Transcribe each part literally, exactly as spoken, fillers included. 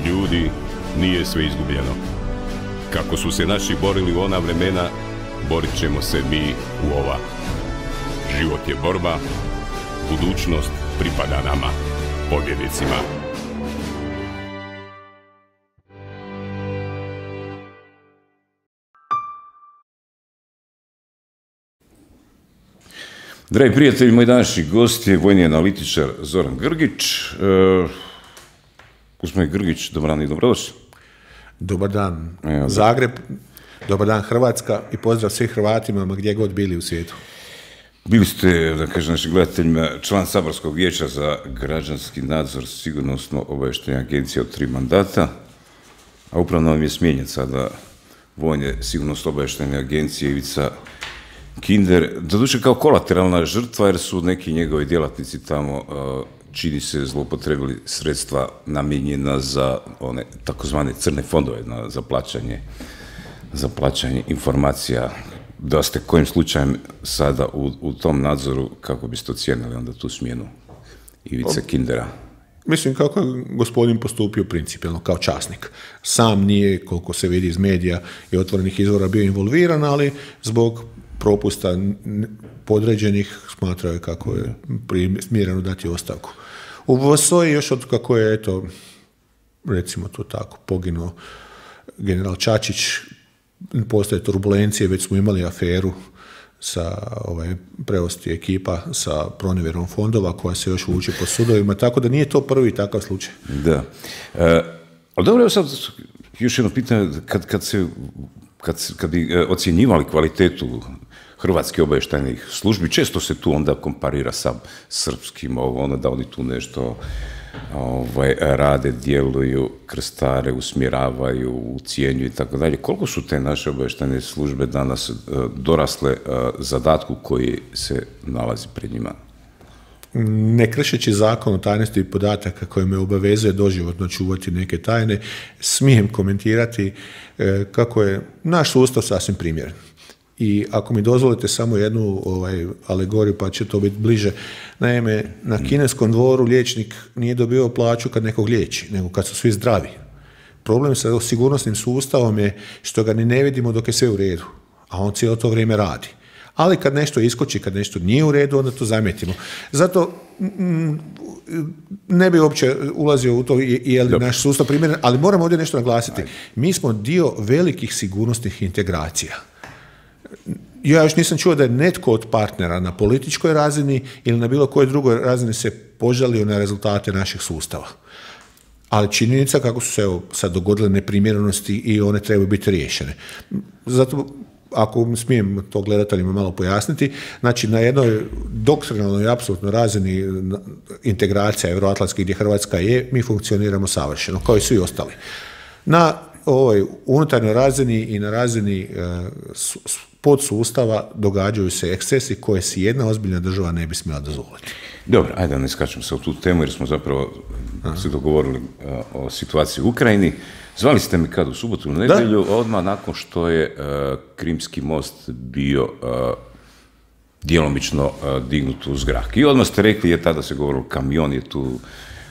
ljudi, nije sve izgubljeno. Kako su se naši borili u ona vremena, borit ćemo se mi u ova. Život je borba, budućnost pripada nama, pobjednicima. Dragi prijatelji, moj današnji gost je vojni analitičar Zoran Grgić. E, Gospodin Grgić, dobar dan i dobrodošli. Dobar dan Zagreb, dobar dan Hrvatska i pozdrav svih Hrvatima gdje god bili u svijetu. Bili ste, da kažem našim gledateljima, član Saborskog vijeća za građanski nadzor sigurnosno-obavještajne agencije od tri mandata, a upravno vam je smijenjen sada vojne sigurnosno-obavještajne agencije Ivica Kinder, doduše kao kolateralna žrtva jer su neki njegovi djelatnici tamo, čini se, zloupotrebili sredstva namijenjena za one takozvane crne fondove, za plaćanje, za plaćanje informacija. Da ste kojim slučajem sada u, u tom nadzoru, kako biste ocijenili onda tu smjenu Ivice Kindera? Mislim kako je gospodin postupio principijelno kao časnik. Sam nije, koliko se vidi iz medija i otvorenih izvora, bio involviran, ali zbog propusta podređenih smatrao je kako je primjereno dati ostavku. U V S O-i još od kako je, eto, recimo to tako, poginuo general Čačić, postoje turbulencije, već smo imali aferu sa ovaj, preosti ekipa sa pronevjerom fondova koja se još vuče po sudovima, tako da nije to prvi takav slučaj. Da. E, ali dobro, evo sad još jedno pitanje, kad, kad se Kad, kad bi ocjenjivali kvalitetu hrvatskih obavještajnih službi, često se tu onda komparira sa srpskim, ono, da oni tu nešto ovaj, rade, djeluju, krstare, usmjeravaju, ucijenjuju i tako dalje. Koliko su te naše obavještajne službe danas dorasle zadatku koji se nalazi pred njima? Ne kršeći zakon o tajnosti podataka koji me obavezuje doživotno čuvati neke tajne, smijem komentirati kako je naš sustav sasvim primjeren. I ako mi dozvolite samo jednu ovaj, alegoriju, pa će to biti bliže. Naime, na kineskom dvoru liječnik nije dobio plaću kad nekog liječi, nego kad su svi zdravi. Problem sa sigurnosnim sustavom je što ga ni ne vidimo dok je sve u redu, a on cijelo to vrijeme radi. Ali kad nešto iskoči, kad nešto nije u redu, onda to zamijetimo. Zato m, ne bi uopće ulazio u to je li naš sustav primjeren, ali moram ovdje nešto naglasiti. Mi smo dio velikih sigurnosnih integracija. Ja još nisam čuo da je netko od partnera na političkoj razini ili na bilo kojoj drugoj razini se požalio na rezultate naših sustava. Ali činjenica kako su se evo, sad dogodile neprimjerenosti i one trebaju biti riješene. Zato ako smijem to gledateljima malo pojasniti, znači na jednoj doktrinalnoj i apsolutnoj razini integracija evroatlantskih gdje Hrvatska je, mi funkcioniramo savršeno, kao i svi ostali. Na ovoj unutarnjoj razini i na razini e, podsustava događaju se ekscesi koje si jedna ozbiljna država ne bi smjela dozvoliti. Dobro, ajde da ne skačemo se u tu temu jer smo zapravo Aha. se dogovorili a, o situaciji u Ukrajini. Zvali ste me kad u subotu u nedjelju, da? Odmah nakon što je uh, Krimski most bio uh, djelomično uh, dignut u zrak. I odmah ste rekli, je tada se govorilo, kamion je tu,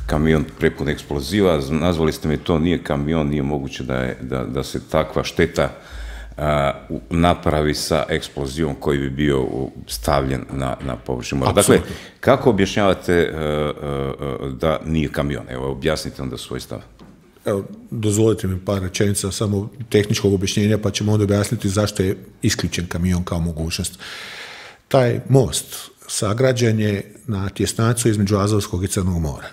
kamion prepun eksploziva, nazvali ste me to, nije kamion, nije moguće da, je, da, da se takva šteta uh, napravi sa eksplozivom koji bi bio stavljen na, na površinu mora. Dakle, kako objašnjavate uh, uh, da nije kamion? Evo, objasnite onda svoj stav. Evo, dozvolite mi par rečenica samo tehničkog objašnjenja, pa ćemo onda objasniti zašto je isključen kamion kao mogućnost. Taj most sagrađen je na tjesnacu između Azovskog i Crnog mora.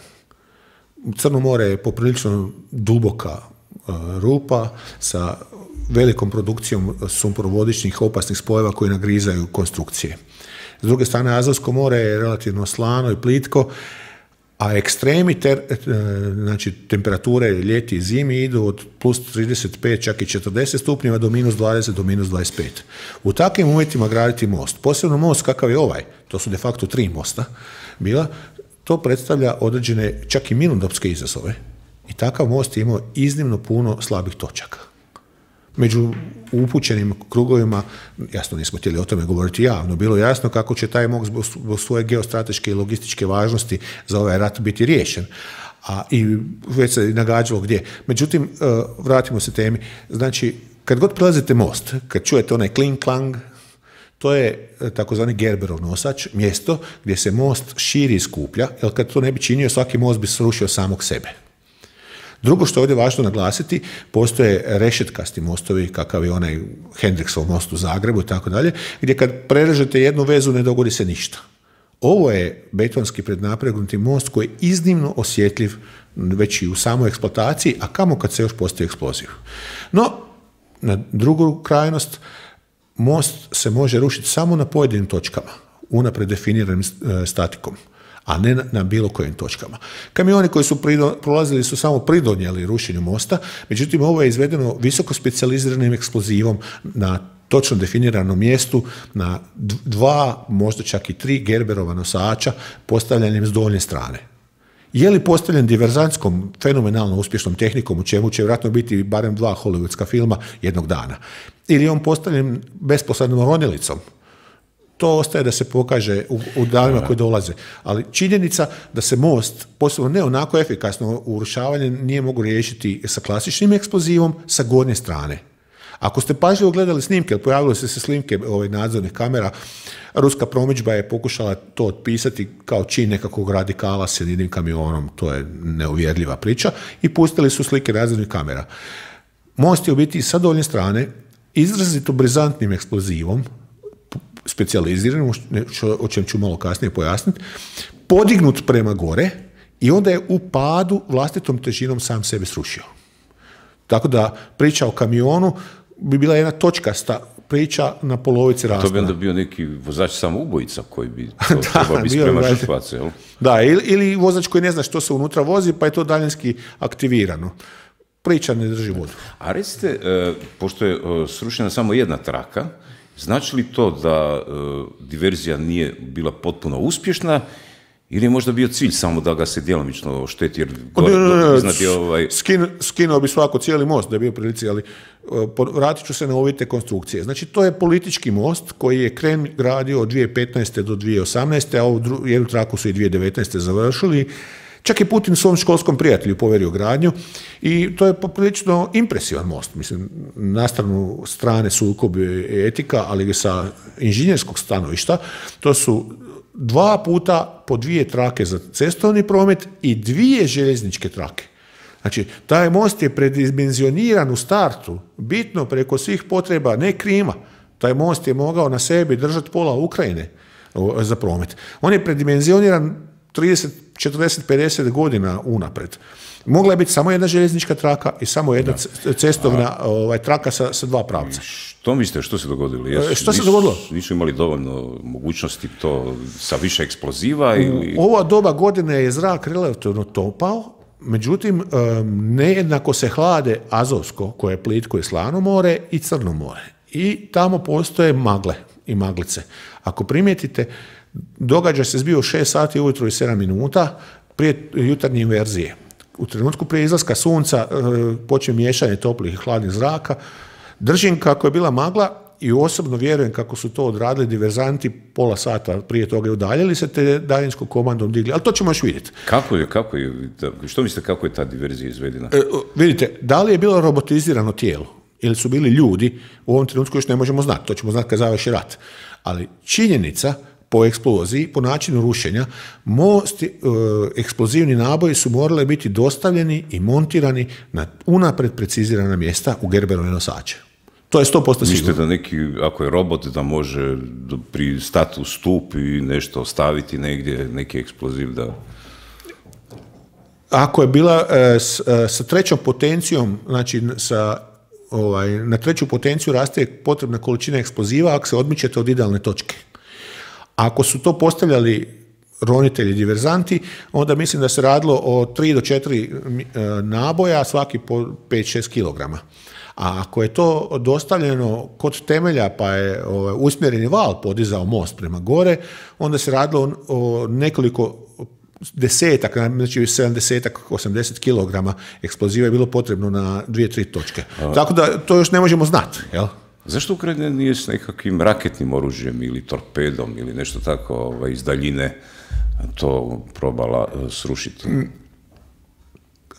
Crno more je poprilično duboka uh, rupa sa velikom produkcijom sumporovodičnih opasnih spojeva koji nagrizaju konstrukcije. S druge strane, Azovsko more je relativno slano i plitko, a ekstremi ter, znači, temperature ljeti i zimi idu od plus trideset pet, čak i četrdeset stupnjeva do minus dvadeset do minus dvadeset pet. U takvim uvjetima graditi most, posebno most kakav je ovaj, to su de facto tri mosta bila, to predstavlja određene čak i mirnodopske izazove. I takav most je imao iznimno puno slabih točaka. Među upućenim krugovima, jasno nismo htjeli o tome govoriti javno, bilo jasno kako će taj most zbog svoje geostrateške i logističke važnosti za ovaj rat biti riješen. A i već se nagađalo gdje. Međutim, vratimo se temi. Znači, kad god prelazite most, kad čujete onaj kling klang, to je takozvani Gerberov nosač, mjesto gdje se most širi i skuplja, jer kad to ne bi činio, svaki most bi srušio samog sebe. Drugo što je ovdje važno naglasiti, postoje rešetkasti mostovi, kakav je onaj Hendriksov most u Zagrebu i tako dalje, gdje kad prerežete jednu vezu ne dogodi se ništa. Ovo je betonski prednapregnuti most koji je iznimno osjetljiv već i u samoj eksploataciji, a kamo kad se još postoji eksploziv. No, na drugu krajnost, most se može rušiti samo na pojedinim točkama, unapred definiranim statikom, a ne na, na bilo kojim točkama. Kamioni koji su prido, prolazili su samo pridonijeli rušenju mosta, međutim ovo je izvedeno visoko specijaliziranim eksplozivom na točno definiranom mjestu, na dva, možda čak i tri Gerberova nosača postavljanjem s donje strane. Je li postavljen diverzantskom, fenomenalno uspješnom tehnikom, u čemu će vjerojatno biti barem dva hollywoodska filma jednog dana? Ili je on postavljen besposlednom ronilicom? To ostaje da se pokaže u, u danima koji dolaze. Ali činjenica da se most, posebno ne onako efikasno urušavanje, nije mogu riješiti sa klasičnim eksplozivom sa gornje strane. Ako ste pažljivo gledali snimke, jer pojavile su se snimke ovih nadzornih kamera, ruska promidžba je pokušala to otpisati kao čin nekakvog radikala s jednim kamionom, to je neuvjerljiva priča, i pustili su slike nadzornih kamera. Most je u biti sa donje strane izrazito brizantnim eksplozivom, specijaliziranim, o čem ću malo kasnije pojasniti, podignut prema gore i onda je u padu vlastitom težinom sam sebe srušio. Tako da priča o kamionu bi bila jedna točkasta priča na polovici raspona. To bi onda bio neki vozač samoubojica koji bi to trebao biti sprema žrtvace, jel? Da, ili, ili vozač koji ne zna što se unutra vozi, pa je to daljinski aktivirano. Priča ne drži vodu. A recite, pošto je srušena samo jedna traka, znači li to da diverzija nije bila potpuno uspješna, ili je možda bio cilj samo da ga se djelomično ošteti, jer iznad ovaj... Skin, skinuo bi svako cijeli most da je bio prilici, ali vratit ću se na ovite konstrukcije. Znači, to je politički most koji je Kremlj gradio od dvije tisuće petnaeste do dvije tisuće osamnaeste, a ovu jednu traku su i dvije tisuće devetnaeste završili. Čak je Putin svom školskom prijatelju poverio gradnju i to je poprilično impresivan most. Mislim, na stranu strane sukob etika, ali sa inženjerskog stanovišta, to su dva puta po dvije trake za cestovni promet i dvije željezničke trake. Znači, taj most je predimenzioniran u startu, bitno preko svih potreba, ne Krima. Taj most je mogao na sebi držati pola Ukrajine za promet. On je predimenzioniran trideset, četrdeset, pedeset godina unapred. Mogla je biti samo jedna željeznička traka i samo jedna da. cestovna A, ovaj, traka sa, sa dva pravca. Što mislite, što se dogodilo? Jesu, što se nisu, dogodilo? Nisu imali dovoljno mogućnosti to sa više eksploziva? Ili... Ova doba godine je zrak relativno topao, međutim, nejednako se hlade Azovsko, koje je plitko i slano more, i Crno more. I tamo postoje magle i maglice. Ako primijetite, događaj se zbio u šest sati ujutro i sedam minuta prije jutarnje inverzije. U trenutku prije izlaska sunca počne miješanje toplih i hladnih zraka. Držim kako je bila magla i osobno vjerujem kako su to odradili diverzanti pola sata prije toga i udaljili se te daljinskom komandom digli. Ali to ćemo još vidjeti. Kako je, kako je, što mislite kako je ta diverzija izvedena? E, vidite, da li je bilo robotizirano tijelo ili su bili ljudi, u ovom trenutku još ne možemo znati. To ćemo znati kad završi rat. Ali činjenica po eksploziji, po načinu rušenja, most, e, eksplozivni naboji su morali biti dostavljeni i montirani na unapred precizirana mjesta u Gerberove nosače. To je sto posto sigurno. Mislite da neki, ako je robot, da može pristati u stup i nešto ostaviti negdje, neki eksploziv da... Ako je bila e, s, e, sa trećom potencijom, znači sa, ovaj, na treću potenciju raste potrebna količina eksploziva ako se odmičete od idealne točke. Ako su to postavljali ronitelji, diverzanti, onda mislim da se radilo o tri do četiri naboja, svaki po pet šest kilograma. A ako je to dostavljeno kod temelja, pa je ovaj, usmjereni val podizao most prema gore, onda se radilo o nekoliko desetak, znači sedamdeset osamdeset kilograma eksploziva je bilo potrebno na dvije, tri točke. A... Tako da to još ne možemo znati, jel? Zašto Ukrajina nije s nekakvim raketnim oružjem ili torpedom ili nešto tako ovaj, iz daljine to probala uh, srušiti?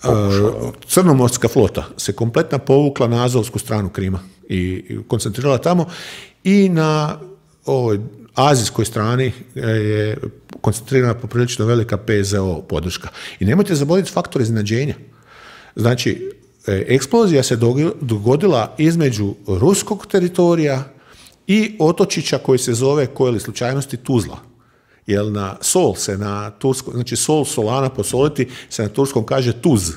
pokušala. Crnomorska flota se kompletna povukla na azovsku stranu Krima i koncentrirala tamo i na ovoj azijskoj strani je koncentrirana poprilično velika P Z O podrška. I nemojte zaboraviti faktor iznenađenja. Znači, eksplozija se dogodila između ruskog teritorija i otočića koji se zove, koje li slučajnosti, Tuzla. Jer na sol se na turskom, znači sol, solana, posoliti se na turskom kaže Tuz.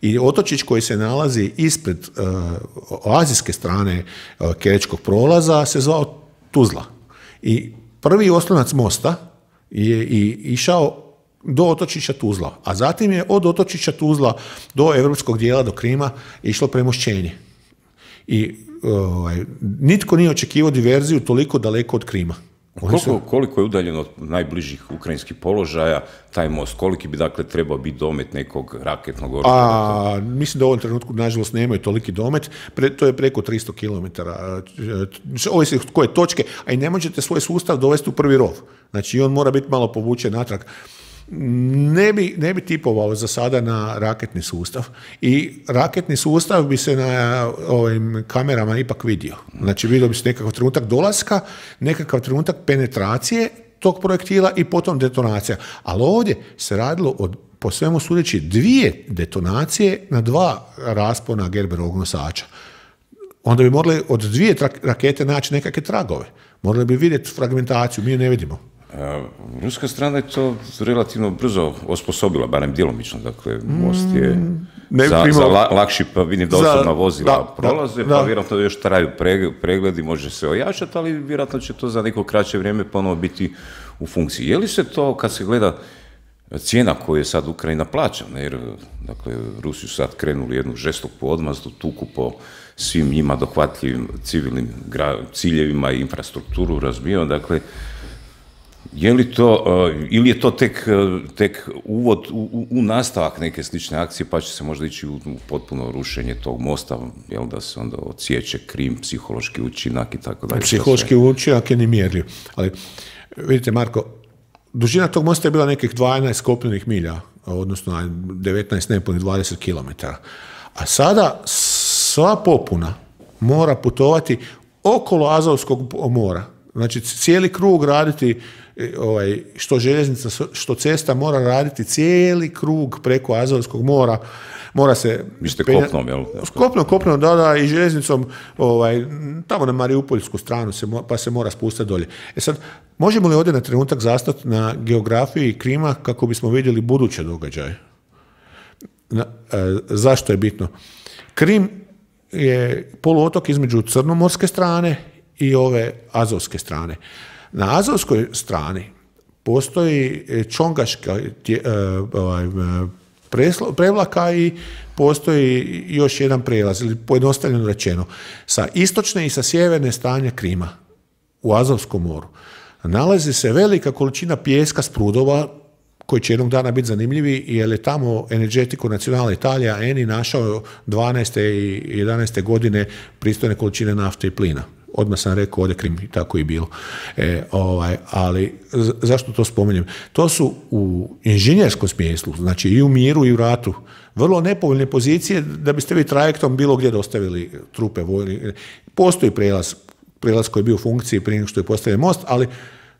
I otočić koji se nalazi ispred uh, azijske strane uh, Kerečkog prolaza se zvao Tuzla. I prvi oslonac mosta je i išao do otočića Tuzla, a zatim je od otočića Tuzla do europskog dijela, do Krima, išlo premošćenje. I ovaj, nitko nije očekivao diverziju toliko daleko od Krima. Koliko, koliko je udaljeno od najbližih ukrajinskih položaja taj most? Koliki bi dakle trebao biti domet nekog raketnog oružja? A, mislim da u ovom trenutku, nažalost, nemaju toliki domet. Pre, to je preko tristo kilometara. Ovisi koje točke, a i ne možete svoj sustav dovesti u prvi rov. Znači, on mora biti malo povučen natrag. Ne bi, ne bi tipovao za sada na raketni sustav i raketni sustav bi se na ovim kamerama ipak vidio. Znači vidio bi se nekakav trenutak dolaska, nekakav trenutak penetracije tog projektila i potom detonacija. Ali ovdje se radilo od, po svemu sudeći, dvije detonacije na dva raspona Gerberovog nosača. Onda bi morali od dvije rakete naći nekakve tragove. Morali bi vidjeti fragmentaciju, mi ju ne vidimo. Ruska strana je to relativno brzo osposobila, barem djelomično, dakle, most je ne, za, primo, za la, lakši, pa vidim da osobna vozila da, prolaze, da, pa da. Vjerojatno još traju pregledi, može se ojačati, ali vjerojatno će to za neko kraće vrijeme ponovo biti u funkciji. Je li se to, kad se gleda cijena koju je sad Ukrajina plaća, jer dakle, Rusi su sad krenuli jednu žestoku odmazdu, tuku po svim njima dohvatljivim civilnim ciljevima i infrastrukturu razbijaju, dakle, je li to, ili je to tek, tek uvod u, u nastavak neke slične akcije, pa će se možda ići u potpuno rušenje tog mosta, jel, da se onda odsjeće Krim, psihološki učinak i tako dalje. Psihološki učinak je nemjerljiv. Ali, vidite, Marko, dužina tog mosta je bila nekih dvanaest kopnenih milja, odnosno devetnaest, nepunih dvadeset kilometara. A sada sva popuna mora putovati okolo Azovskog mora. Znači, cijeli krug raditi, ovaj, što željeznica, što cesta mora raditi cijeli krug preko Azovskog mora. Mora se... Mislite kopnom, jel? Kopnom, kopnom, da, da, i željeznicom, ovaj, tamo na Mariupoljsku stranu, se, pa se mora spustiti dolje. E sad, možemo li ovdje na trenutak zastati na geografiji Krima kako bismo vidjeli buduće događaje? Na, e, zašto je bitno? Krim je poluotok između crnomorske strane i ove azovske strane. Na azovskoj strani postoji čongaška prevlaka i postoji još jedan prijelaz, ili pojednostavljeno rečeno, sa istočne i sa sjeverne strane Krima u Azovskom moru nalazi se velika količina pijeska s prudova koji će jednog dana biti zanimljivi, jer je tamo Energetico Nazionale Italija, Eni, našao dvanaeste i jedanaeste godine pristojne količine nafte i plina. Odmah sam rekao, ovdje Krim, tako i bilo. E, ovaj, ali zašto to spominjem? To su u inženjerskom smislu, znači i u miru i u ratu, vrlo nepovoljne pozicije da biste vi trajektom bilo gdje dostavili trupe vojne. Postoji prijelaz, prijelaz koji je bio u funkciji prije nego što je postavljen most, ali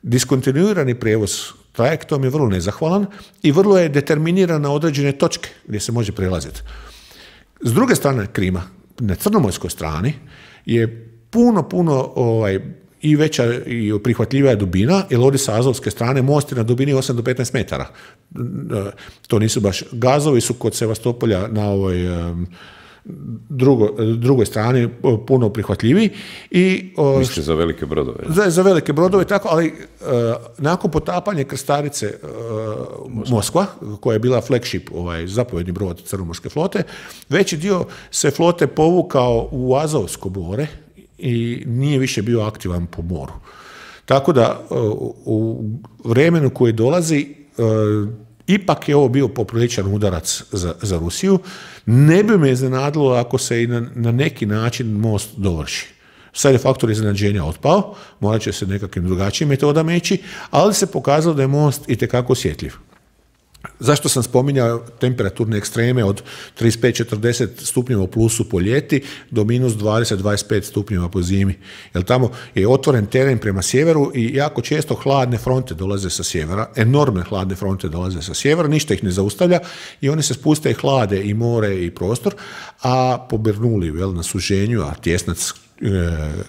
diskontinuirani prijevoz trajektom je vrlo nezahvalan i vrlo je determiniran na određene točke gdje se može prelaziti. S druge strane Krima, na crnomorskoj strani, je puno, puno ovaj, i veća i prihvatljivija dubina, jer ovdje sa azovske strane most je na dubini osam do petnaest metara. To nisu baš gazovi, su kod Sevastopolja na ovoj drugo, drugoj strani puno prihvatljiviji. I, Mislite za velike brodove? Za, za velike brodove, tako, ali uh, nakon potapanja krstarice uh, Moskva. Moskva, koja je bila flagship, ovaj, zapovjedni brod crnomorske flote, veći dio se flote povukao u Azovsko more i nije više bio aktivan po moru. Tako da u vremenu koje dolazi ipak je ovo bio popriličan udarac za, za Rusiju. Ne bi me iznenadilo ako se i na, na neki način most dovrši. Sad je faktor iznenađenja otpao, morat će se nekakvim drugačijim metodama ići, ali se pokazalo da je most itekako osjetljiv. Zašto sam spominjao temperaturne ekstreme od trideset pet do četrdeset stupnjeva u plusu po ljeti do minus dvadeset do dvadeset pet stupnjeva po zimi? Jer tamo je otvoren teren prema sjeveru i jako često hladne fronte dolaze sa sjevera, enormne hladne fronte dolaze sa sjevera, ništa ih ne zaustavlja i one se spuste i hlade i more i prostor, a po Bernoulliu, jel, na suženju, a tjesnac,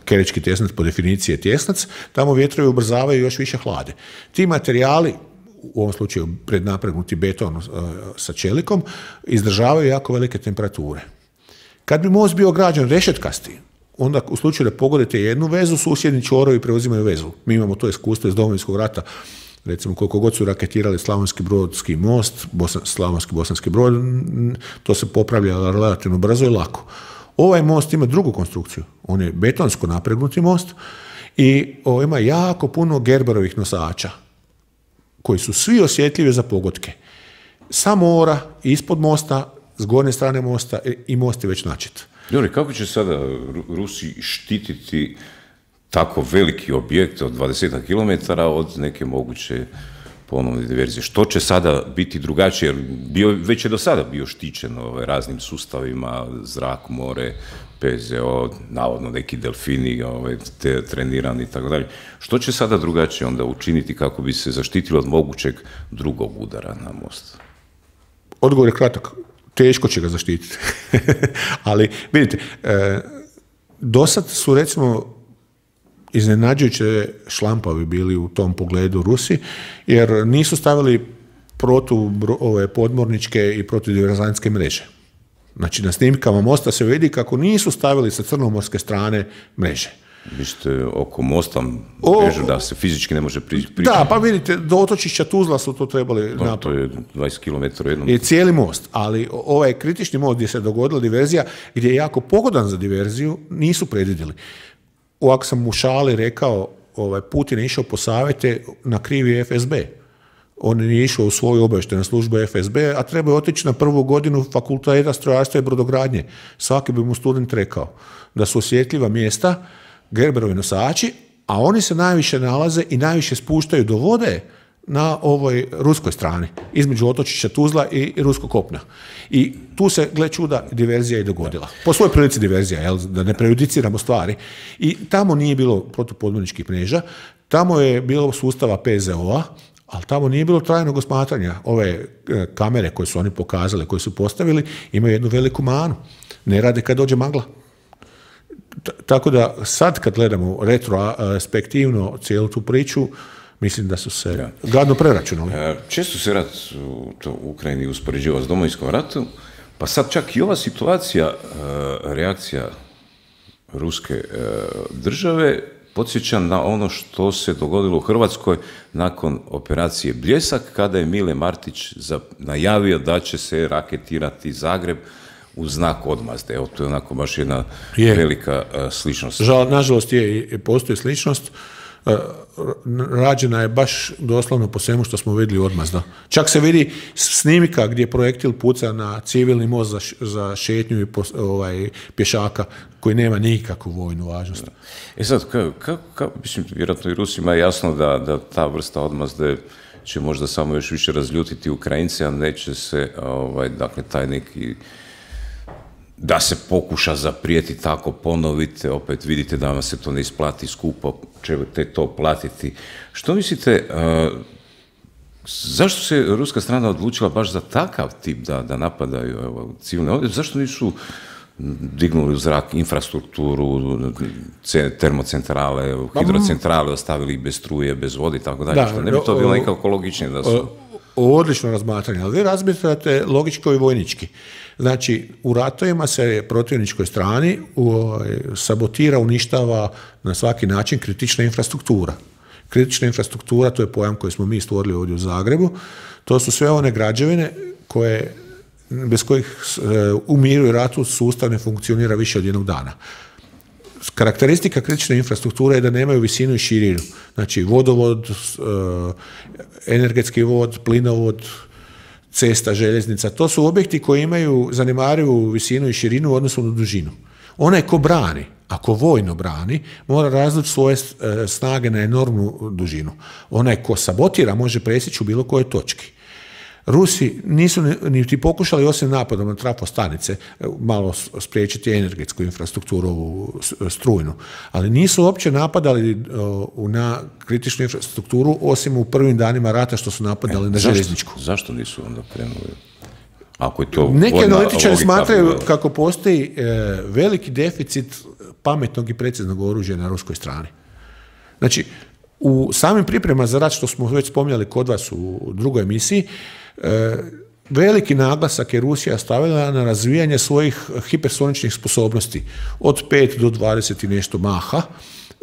Kerečki tjesnac po definiciji je tjesnac, tamo vjetrovi ubrzavaju još više hlade. Ti materijali, u ovom slučaju prednapregnuti beton uh, sa čelikom, izdržavaju jako velike temperature. Kad bi most bio građen rešetkasti, onda u slučaju da pogodite jednu vezu, susjedni čvorovi preuzimaju vezu. Mi imamo to iskustvo iz Domovinskog rata, recimo koliko god su raketirali Slavonski Brodski most, Bosan, Slavonski Bosanski Brod, to se popravlja relativno brzo i lako. Ovaj most ima drugu konstrukciju, on je betonsko napregnuti most i o, ima jako puno Gerberovih nosača, koji su svi osjetljivi za pogodke. Sa mora, ispod mosta, s gornje strane mosta i most je već načet. Dobro, kako će sada Rusi štititi tako veliki objekt od dvadeset kilometara od neke moguće ponovne diverzije? Što će sada biti drugačije? Jer bio, već je do sada bio štićen ovaj, raznim sustavima, zrak, more, P Z O, navodno neki delfini ovaj, te, trenirani i tako dalje. Što će sada drugačije onda učiniti kako bi se zaštitilo od mogućeg drugog udara na most? Odgovor je kratak. Teško će ga zaštititi. Ali, vidite, e, do sad su, recimo, iznenađujuće šlampavi bili u tom pogledu Rusi, jer nisu stavili protu ove podmorničke i protudiverzantske mreže. Znači, na snimkama mosta se vidi kako nisu stavili sa crnomorske strane mreže. Vi ste oko mosta mrežu da se fizički ne može prići. Da, pa vidite, do otočišća Tuzla su to trebali napraviti. To je dvadeset kilometara jednom. Je cijeli most, ali ovaj kritični most gdje se dogodila diverzija, gdje je jako pogodan za diverziju, nisu predvidjeli. Ovako sam u šali rekao, ovaj, Putin je išao po savjete na krivi F S B. On je išao u svoju obavještajnu službu F S B, a treba je otići na prvu godinu fakulteta strojarstva i brodogradnje. Svaki bi mu student rekao da su osjetljiva mjesta Gerberovi nosači, a oni se najviše nalaze i najviše spuštaju do vode na ovoj ruskoj strani, između otočića Tuzla i ruskog kopna. I tu se, gle čuda, diverzija i dogodila. Po svojoj prilici diverzija, jel, da ne prejudiciramo stvari. I tamo nije bilo protupodmorničkih mreža, tamo je bilo sustava P Z O-a, ali tamo nije bilo trajnog osmatranja. Ove kamere koje su oni pokazali, koje su postavili, imaju jednu veliku manu. Ne rade kad dođe magla. Tako da sad kad gledamo retrospektivno cijelu tu priču, mislim da su se ja. gadno preračunali. Često se rat u, to, u Ukrajini uspoređivao s Domovinskom ratu, pa sad čak i ova situacija, reakcija ruske države, podsjeća na ono što se dogodilo u Hrvatskoj nakon operacije Bljesak, kada je Mile Martić najavio da će se raketirati Zagreb u znak odmazde. Evo, to je onako baš jedna je. velika uh, sličnost. Žal, nažalost, je, postoji sličnost. Uh, rađena je baš doslovno po svemu što smo vidjeli odmazda. Čak se vidi snimka gdje projektil puca na civilni most za, za šetnju i pos, ovaj, pješaka koji nema nikakvu vojnu važnost. E sad, ka, ka, ka, mislim, vjerojatno i Rusima je jasno da, da ta vrsta odmazde će možda samo još više razljutiti Ukrajince, a neće se, ovaj, dakle, taj neki da se pokuša zaprijeti tako ponovite, opet vidite da vam se to ne isplati skupo, ćete to platiti. Što mislite, uh, zašto se ruska strana odlučila baš za takav tip da, da napadaju evo, civilne ovdje? Zašto nisu dignuli u zrak infrastrukturu, termocentrale, hidrocentrale, ostavili bez struje, bez vode i tako dalje? Što ne bi to bilo nekako logičnije da su... Odlično razmatranje, ali vi razmišljate logičko i vojnički. Znači, u ratovima se protivničkoj strani u, sabotira, uništava na svaki način kritična infrastruktura. Kritična infrastruktura, to je pojam koji smo mi stvorili ovdje u Zagrebu, to su sve one građevine koje, bez kojih u miru i ratu sustav ne funkcionira više od jednog dana. Karakteristika kritične infrastrukture je da nemaju visinu i širinu. Znači, vodovod, energetski vod, plinovod, cesta, željeznica, to su objekti koji imaju zanemarivu visinu i širinu u odnosu na dužinu. Onaj ko brani, ako vojno brani, mora različiti svoje snage na enormnu dužinu. Onaj ko sabotira može presjeći u bilo kojoj točki. Rusi nisu niti pokušali, osim napadom na trafostanice, malo spriječiti energetsku infrastrukturu, ovu strujnu, ali nisu uopće napadali na kritičnu infrastrukturu, osim u prvim danima rata što su napadali e, na željezničku. Zašto nisu onda krenuli? Ako je to neki analitičari smatraju bila... kako postoji e, veliki deficit pametnog i preciznog oružja na ruskoj strani. Znači, u samim pripremama za rat, što smo već spominjali kod vas u drugoj emisiji, e, veliki naglasak je Rusija stavila na razvijanje svojih hipersoničnih sposobnosti od pet do dvadeset i nešto maha,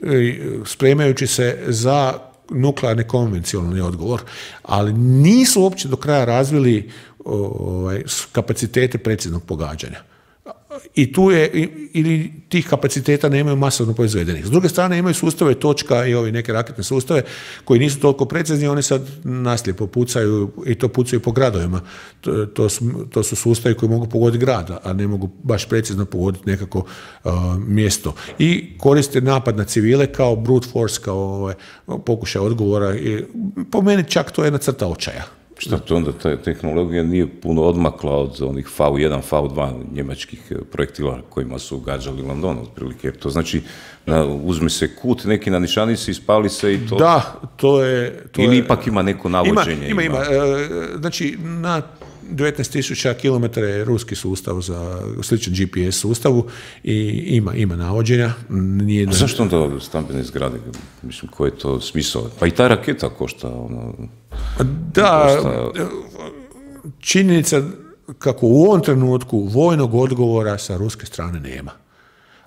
e, spremajući se za nuklearni konvencionalni odgovor, ali nisu uopće do kraja razvili ovaj, kapacitete preciznog pogađanja. I tu je, ili tih kapaciteta nemaju masovno proizvedenih. S druge strane imaju sustave točka i ovi neke raketne sustave koji nisu toliko precizni, oni sad naslijepo pucaju i to pucaju po gradovima. To, to, su, to su sustavi koji mogu pogoditi grad, a ne mogu baš precizno pogoditi nekako uh, mjesto. I koriste napad na civile kao brute force, kao ovaj, pokušaj odgovora. I po meni čak to je jedna crta očaja. Šta to onda, ta tehnologija nije puno odmakla od onih V jedan, V dva njemačkih projektila kojima su gađali London, otprilike. To znači, na, uzme se kut, neki na nišanici, ispali se i to... Da, to je... To Ili je, ipak ima neko navođenje? Ima, ima, ima. E, znači, na devetnaest tisuća kilometara je ruski sustav za sličan G P S sustavu i ima, ima navođenja. Nije da... Zašto onda stambene zgrade? Mislim, koji je to smisao? Pa i ta raketa košta, ono... Da, činjenica kako u ovom trenutku vojnog odgovora sa ruske strane nema.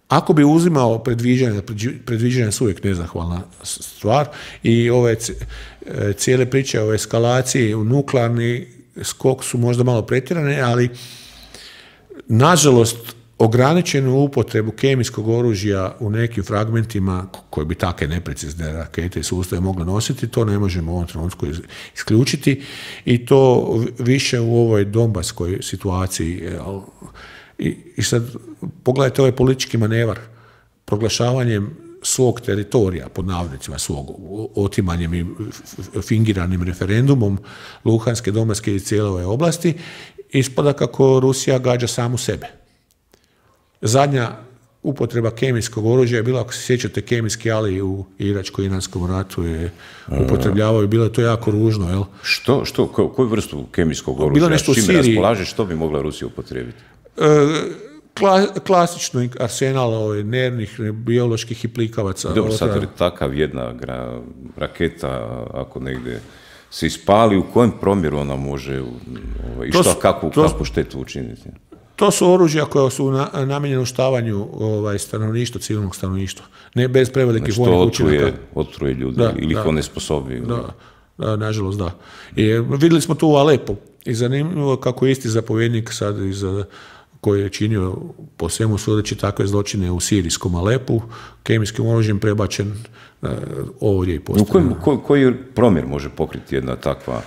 Ako bi uzimao predviđanja, predviđanja su uvijek nezahvalna stvar i ove cijele priče o eskalaciji u nuklearni skok su možda malo pretjerane, ali nažalost ograničenu upotrebu kemijskog oružja u nekim fragmentima koje bi takve neprecizne rakete i sustave mogle nositi, to ne možemo u ovom trenutku isključiti i to više u ovoj donbaskoj situaciji. I, i sad pogledajte ovaj politički manevar proglašavanjem svog teritorija, pod navodnicima svog, otimanjem i fingiranim referendumom Luhanske, Donbaske i cijele ove oblasti, ispada kako Rusija gađa samu sebe. Zadnja upotreba kemijskog oružja je bila, ako se sjećate, kemijski ali u Iračko-Iranskom ratu je upotrebljavaju, bilo je to jako ružno, jel? Što, što, ko, koju vrstu kemijskog oružja? Bilo nešto u Čime Siriji. raspolaže, što bi mogla Rusija upotrijebiti? E, kla, klasično arsenal ovaj, nervnih, bioloških i plikavaca. Dobro, sad je takav jedna gra, raketa, ako negdje se ispali, u kojem promjeru ona može ovaj, i što, su, kakvu, to, kakvu štetu učiniti? To su oružja koja su na, namijenjena uništavanju ovaj, stanovništva, civilnog stanovništva. Ne bez prevelikih znači, vojnih učinaka. Otruje ljudi da, ili ih one sposobi. Da, da, nažalost da. I vidjeli smo tu u Alepu i zanimljivo kako je isti zapovjednik sad iz, koji je činio po svemu sudeći takve zločine u sirijskom Alepu, kemijskim oružjem prebačen uh, ovdje i postavljeno. U kojem, koji promjer može pokriti jedna takva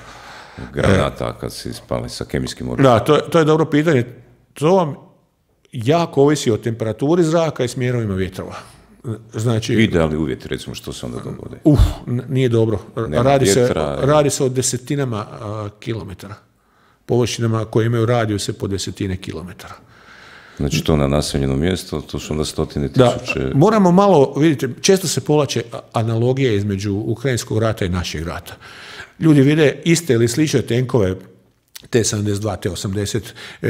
granata kad se ispali sa kemijskim oružjem? Da, to, to je dobro pitanje. To vam jako ovisi o temperaturi zraka i smjerovima vjetrova. Znači, idealni uvjeti, recimo, što se onda dogode? Uh, nije dobro. Radi se, radi se o desetinama a, kilometara. Površinama koje imaju radijuse po desetine kilometara. Znači to na naseljeno mjesto, to su onda stotine tisuće... Da, moramo malo, vidite, često se povlače analogije između Ukrajinskog rata i našeg rata. Ljudi vide iste ili slične tenkove, T sedamdeset dva, T osamdeset, e,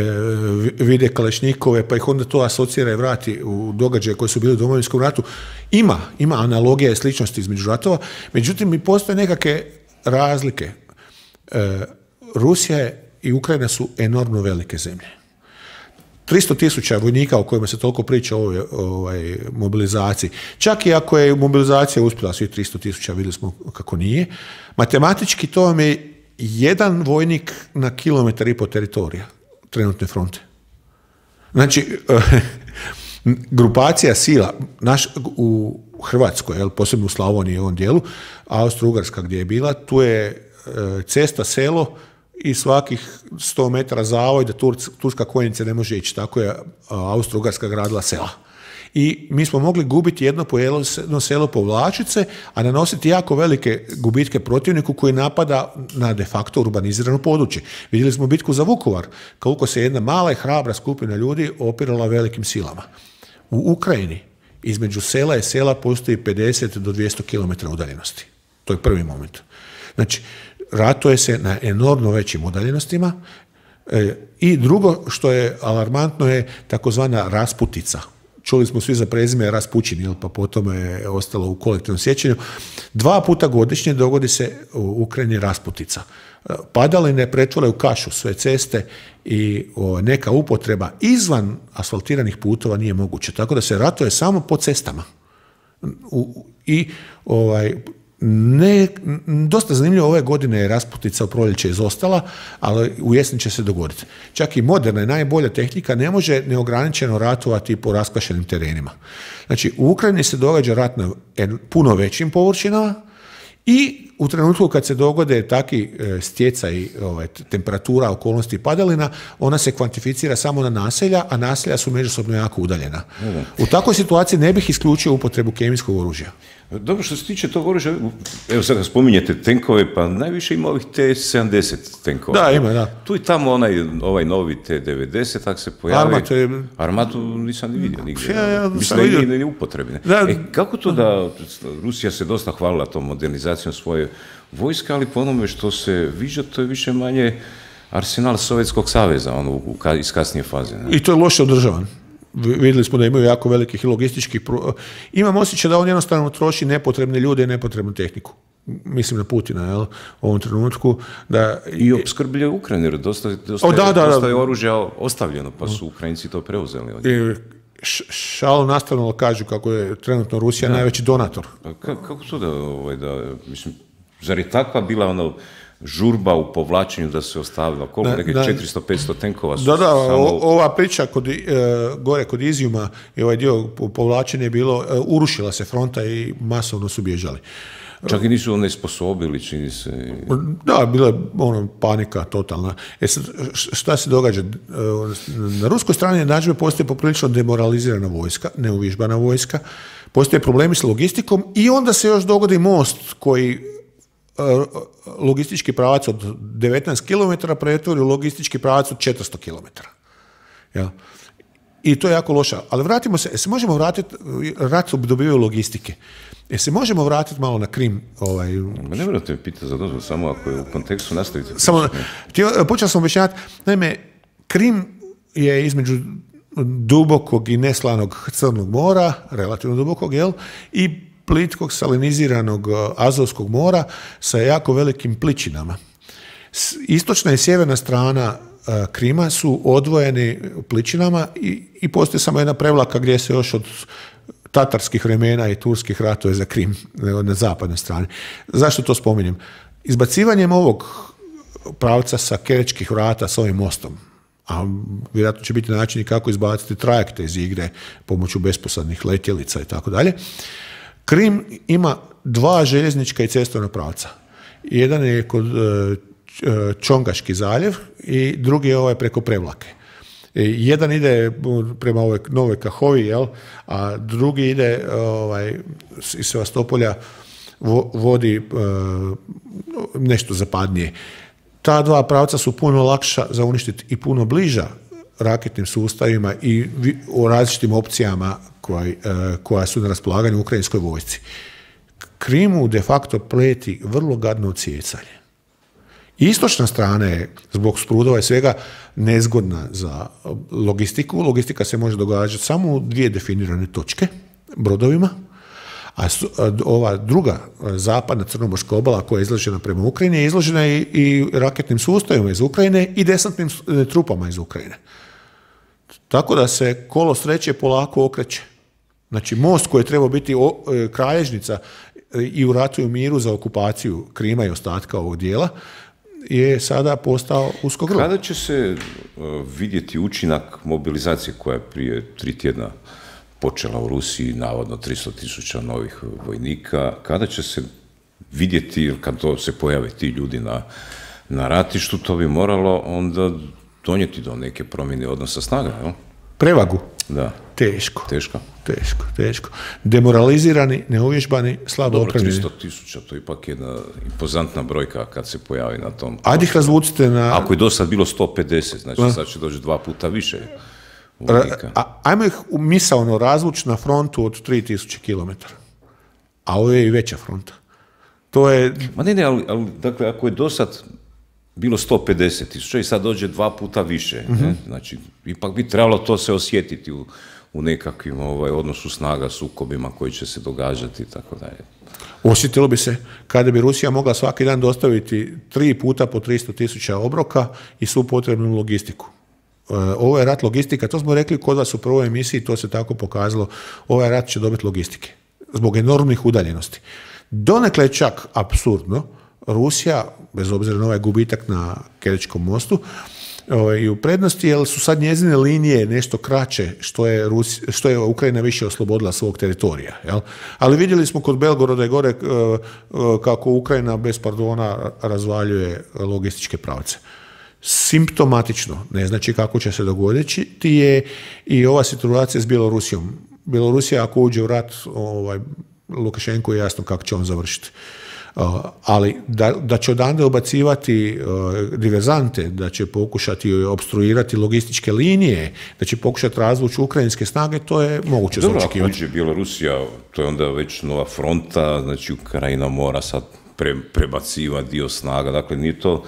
vide kalešnikove, pa ih onda to asocira i vrati u događaje koji su bili u Domovinskom ratu. Ima, ima analogija i sličnosti između ratova, međutim i postoje nekakve razlike. E, Rusija i Ukrajina su enormno velike zemlje. tristo tisuća vojnika o kojima se toliko priča o ovoj, ovoj mobilizaciji. Čak i ako je mobilizacija uspjela svih tristo tisuća, vidjeli smo kako nije, matematički to vam je jedan vojnik na kilometar i po teritorija trenutne fronte. Znači, grupacija sila naš, u Hrvatskoj, jel, posebno u Slavoniji i ovom dijelu, Austro-Ugarska gdje je bila, tu je cesta, selo i svakih sto metara zavoj da Turska konjica ne može ići. Tako je Austro-Ugarska gradila sela. i mi smo mogli gubiti jedno po jedno selo povlačice, a nanositi jako velike gubitke protivniku koji napada na de facto urbanizirano područje. Vidjeli smo bitku za Vukovar, koliko se jedna mala i hrabra skupina ljudi opirala velikim silama. U Ukrajini između sela i sela postoji pedeset do dvjesto kilometara udaljenosti. To je prvi moment. Znači, ratuje se na enormno većim udaljenostima. E, I drugo što je alarmantno je takozvana rasputica. Čuli smo svi za prezime Raspućin, pa potom je ostalo u kolektivnom sjećanju. Dva puta godišnje dogodi se u Ukrajini rasputica. Padaline pretvore u kašu sve ceste i o, neka upotreba izvan asfaltiranih putova nije moguće. Tako da se ratuje samo po cestama. U, I ovaj, ne, dosta zanimljivo, ove godine je rasputica u proljeće izostala, ali u jesen će se dogoditi. Čak i moderna i najbolja tehnika ne može neograničeno ratovati po raskvašenim terenima. Znači, u Ukrajini se događa rat na puno većim površinama i u trenutku kad se dogode takvi stjecaj ovaj, temperatura, okolnosti padalina, ona se kvantificira samo na naselja, a naselja su međusobno jako udaljena. U takvoj situaciji ne bih isključio upotrebu kemijskog oružja. Dobro, što se tiče tog oružja, evo sad spominjete tenkove, pa najviše ima ovih T sedamdeset tenkova. Da, ima, da. Tu i tamo onaj, ovaj novi T devedeset, tak se pojavi. Armatu je... Armatu nisam ni vidio nigdje. Ja, ja, mislim da je nije upotrebne. E, kako to da Rusija se dosta hvalila tom modernizacijom svoje vojske, ali po onome što se viđa, to je više manje arsenal Sovjetskog saveza, ono, iz kasnije faze. Ne? I to je loše održavan. Vidjeli smo da imaju jako velikih i logističkih... Pro... Imam osjećaj da on jednostavno troši nepotrebne ljude i nepotrebnu tehniku. Mislim na Putina, jel, u ovom trenutku. Da... I opskrbljuje Ukrajinu, jer dosta, dosta, o, da, da, dosta je oružja ostavljeno, pa su Ukrajinci to preuzeli. I šalo nastavno kažu kako je trenutno Rusija da. najveći donator. Pa kako to da, ovaj, da, mislim, zar je takva bila ono... žurba u povlačenju da se ostavila, koliko neke četiristo petsto tenkova su da, da, samo... o, ova priča kod, e, gore kod Izijuma i ovaj dio povlačenja je bilo, e, urušila se fronta i masovno su bježali. Čak i nisu onesposobili, čini se... Da, bila je ono, panika totalna. E sad, šta se događa? Na ruskoj strani jednadžbe postoji poprilično demoralizirana vojska, neuvježbana vojska, postoje problemi s logistikom i onda se još dogodi most koji logistički pravac od devetnaest kilometara pretvori u logistički pravac od četiristo kilometara. Ja. I to je jako loša. Ali vratimo se, se možemo vratiti, rat dobivaju logistike. E se možemo vratiti malo na Krim? Ovaj... Ma ne morate me pitati za dozvolu, samo ako je u kontekstu nastavite. Samo, počeo sam objašnjavati, naime, Krim je između dubokog i neslanog Crnog mora, relativno dubokog, jel, i plitkog saliniziranog Azovskog mora sa jako velikim pličinama. Istočna i sjeverna strana Krima su odvojeni pličinama i, i postoji samo jedna prevlaka gdje se još od tatarskih vremena i turskih ratova za Krim na zapadnoj strani. Zašto to spominjem? Izbacivanjem ovog pravca sa Kerečkih vrata s ovim mostom, a vjerojatno će biti način kako izbaciti trajekte iz igre pomoću besposadnih letjelica i tako dalje, Krim ima dva željeznička i cestovna pravca. Jedan je kod Čongaški zaljev i drugi je ovaj preko Prevlake. Jedan ide prema ovoj Novoj Kahovi, jel? A drugi ide ovaj, iz Sevastopolja vodi nešto zapadnije. Ta dva pravca su puno lakša za uništiti i puno bliža raketnim sustavima i o različitim opcijama koja, koja su na raspolaganju u ukrajinskoj vojsci. Krimu de facto pleti vrlo gadno odsjecanje. Istočna strana je, zbog sprudova i svega, nezgodna za logistiku. Logistika se može događati samo u dvije definirane točke, brodovima, a ova druga zapadna crnomorska obala koja je izložena prema Ukrajini je izložena i, i raketnim sustavima iz Ukrajine i desantnim trupama iz Ukrajine. Tako da se kolo sreće polako okreće. Znači, most koji je trebao biti o, e, kralježnica i u ratu i u miru za okupaciju Krima i ostatka ovog dijela, je sada postao usko grlo. Kada će se uh, vidjeti učinak mobilizacije koja je prije tri tjedna počela u Rusiji, navodno tristo tisuća novih vojnika, kada će se vidjeti, kad to se pojave ti ljudi na, na ratištu, to bi moralo onda donijeti do neke promjene odnosa snaga, jel? Prevagu. Da. Teško. Teško. Teško, teško. Demoralizirani, neuvježbani, slabo opremljeni. tristo tisuća, to je ipak jedna impozantna brojka kad se pojavi na tom. Ajde ih razvucite na... Ako je do sad bilo sto pedeset, znači a? sad će doći dva puta više vojnika. A, ajmo ih misaono razvući na frontu od tri tisuće kilometara. A ovo je i veća fronta. To je... Ma ne, ne, ali, ali dakle, ako je do sad bilo sto pedeset tisuća i sad dođe dva puta više, mm-hmm. ne? Znači, ipak bi trebalo to se osjetiti u, u nekakvim ovaj, odnosu snaga, sukobima koji će se događati i tako dalje. Osjetilo bi se kada bi Rusija mogla svaki dan dostaviti tri puta po tristo tisuća obroka i svu potrebnu logistiku. Ovo je rat logistika, to smo rekli kod vas u prvoj emisiji, to se tako pokazalo, ovaj rat će dobiti logistike, zbog enormnih udaljenosti. Donekle čak apsurdno, Rusija, bez obzira na ovaj gubitak na Kerčkom mostu, i u prednosti, jer su sad njezine linije nešto kraće, što je, Rusi, što je Ukrajina više oslobodila svog teritorija. Jel? Ali vidjeli smo kod Belgoroda i gore kako Ukrajina bez pardona razvaljuje logističke pravce. Simptomatično, ne znači kako će se dogoditi, je i ova situacija s Bjelorusijom. Bjelorusija ako uđe u rat, ovaj, Lukašenko je jasno kako će on završiti. Uh, ali da, da će odande ubacivati uh, diverzante, da će pokušati obstruirati logističke linije, da će pokušati razvući ukrajinske snage, to je moguće za očekivati. Dobro, ako uđe Bjelorusija, to je onda već nova fronta, znači Ukrajina mora sad pre, prebacivati dio snaga, dakle nije to,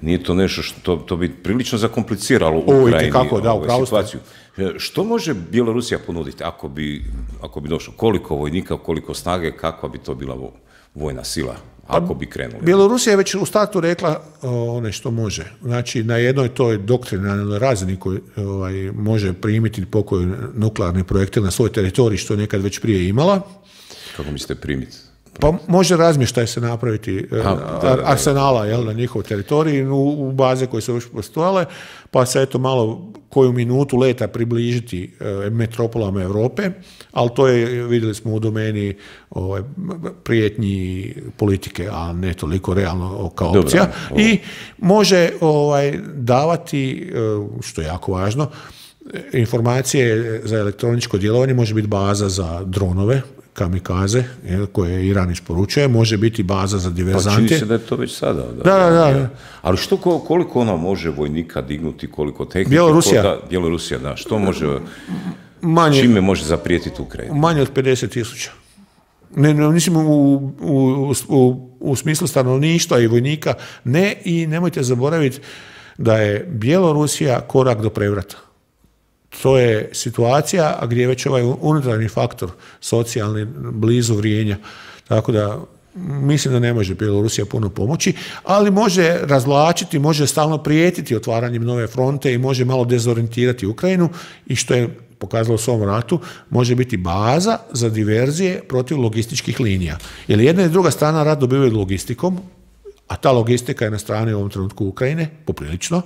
nije to nešto što to bi prilično zakompliciralo u Ukrajini kako, da, ovu situaciju. Što može Bjelorusija ponuditi ako bi, ako bi došlo? Koliko vojnika, koliko snage, kakva bi to bila vojna sila, ako bi krenuli? Bjelorusija je već u startu rekla one što može. Znači, na jednoj toj doktrinalnoj razini koji ovaj, može primiti pokoji nuklearni projektil na svoj teritorij, što je nekad već prije imala. Kako mislite primiti? Pa može razmještaj se napraviti a, da, da, da. arsenala jel, na njihov teritorij u, u baze koje su već postojale, pa se eto malo koju minutu leta približiti e, metropolama Europe, ali to je, vidjeli smo u domeni ovaj, prijetnji politike, a ne toliko realno kao opcija. Dobro, i može ovaj, davati, što je jako važno, informacije za elektroničko djelovanje, može biti baza za dronove, kamikaze, koje Iran isporučuje, može biti baza za diverzante. Pa čini se da je to već sada. Da, da, da. da. Ali što, koliko ona može vojnika dignuti, koliko tehnike? Bjelorusija. Da, Bjelorusija, da. Što može, manje, čime može zaprijetiti Ukrajinu? Manje od pedeset tisuća. Ne, ne, mislim, u, u, u, u smislu stanovništva i vojnika, ne, i nemojte zaboraviti da je Bjelorusija korak do prevrata. To je situacija gdje je već ovaj unutarnji faktor socijalni blizu vrijenja. Tako da mislim da ne može Bjelorusija puno pomoći, ali može razvlačiti, može stalno prijetiti otvaranjem nove fronte i može malo dezorijentirati Ukrajinu i što je pokazalo u svom ratu, može biti baza za diverzije protiv logističkih linija. Jer jedna i druga strana rat dobivaju logistikom, a ta logistika je na strani u ovom trenutku Ukrajine, poprilično,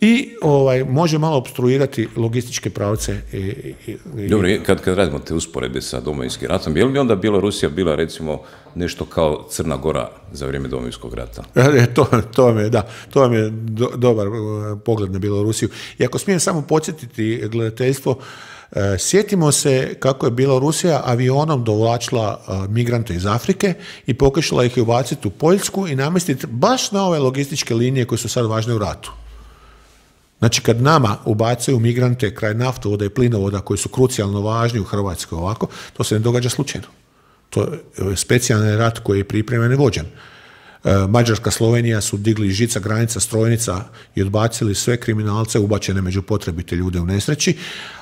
i ovaj, može malo opstruirati logističke pravce. I, i, i... Dobro, kad, kad radimo te usporedbe sa Domovinskim ratom, je li bi onda Bjelorusija bila recimo nešto kao Crna Gora za vrijeme Domovinskog rata? E, to, to, vam je, da, to vam je do, dobar pogled na Bjelorusiju. I ako smijem samo podsjetiti gledateljstvo, e, sjetimo se kako je Bjelorusija avionom dovlačila e, migrante iz Afrike i pokušala ih ubaciti u Poljsku i namjestiti baš na ove logističke linije koje su sad važne u ratu. Znači, kad nama ubacuju migrante kraj naftovoda i plinovoda koji su krucijalno važni u Hrvatskoj ovako, to se ne događa slučajno. To je specijalni rat koji je pripremljen i vođen. Mađarska, Slovenija su digli žica, granica, strojnica i odbacili sve kriminalce ubačene među potrebite ljude u nesreći,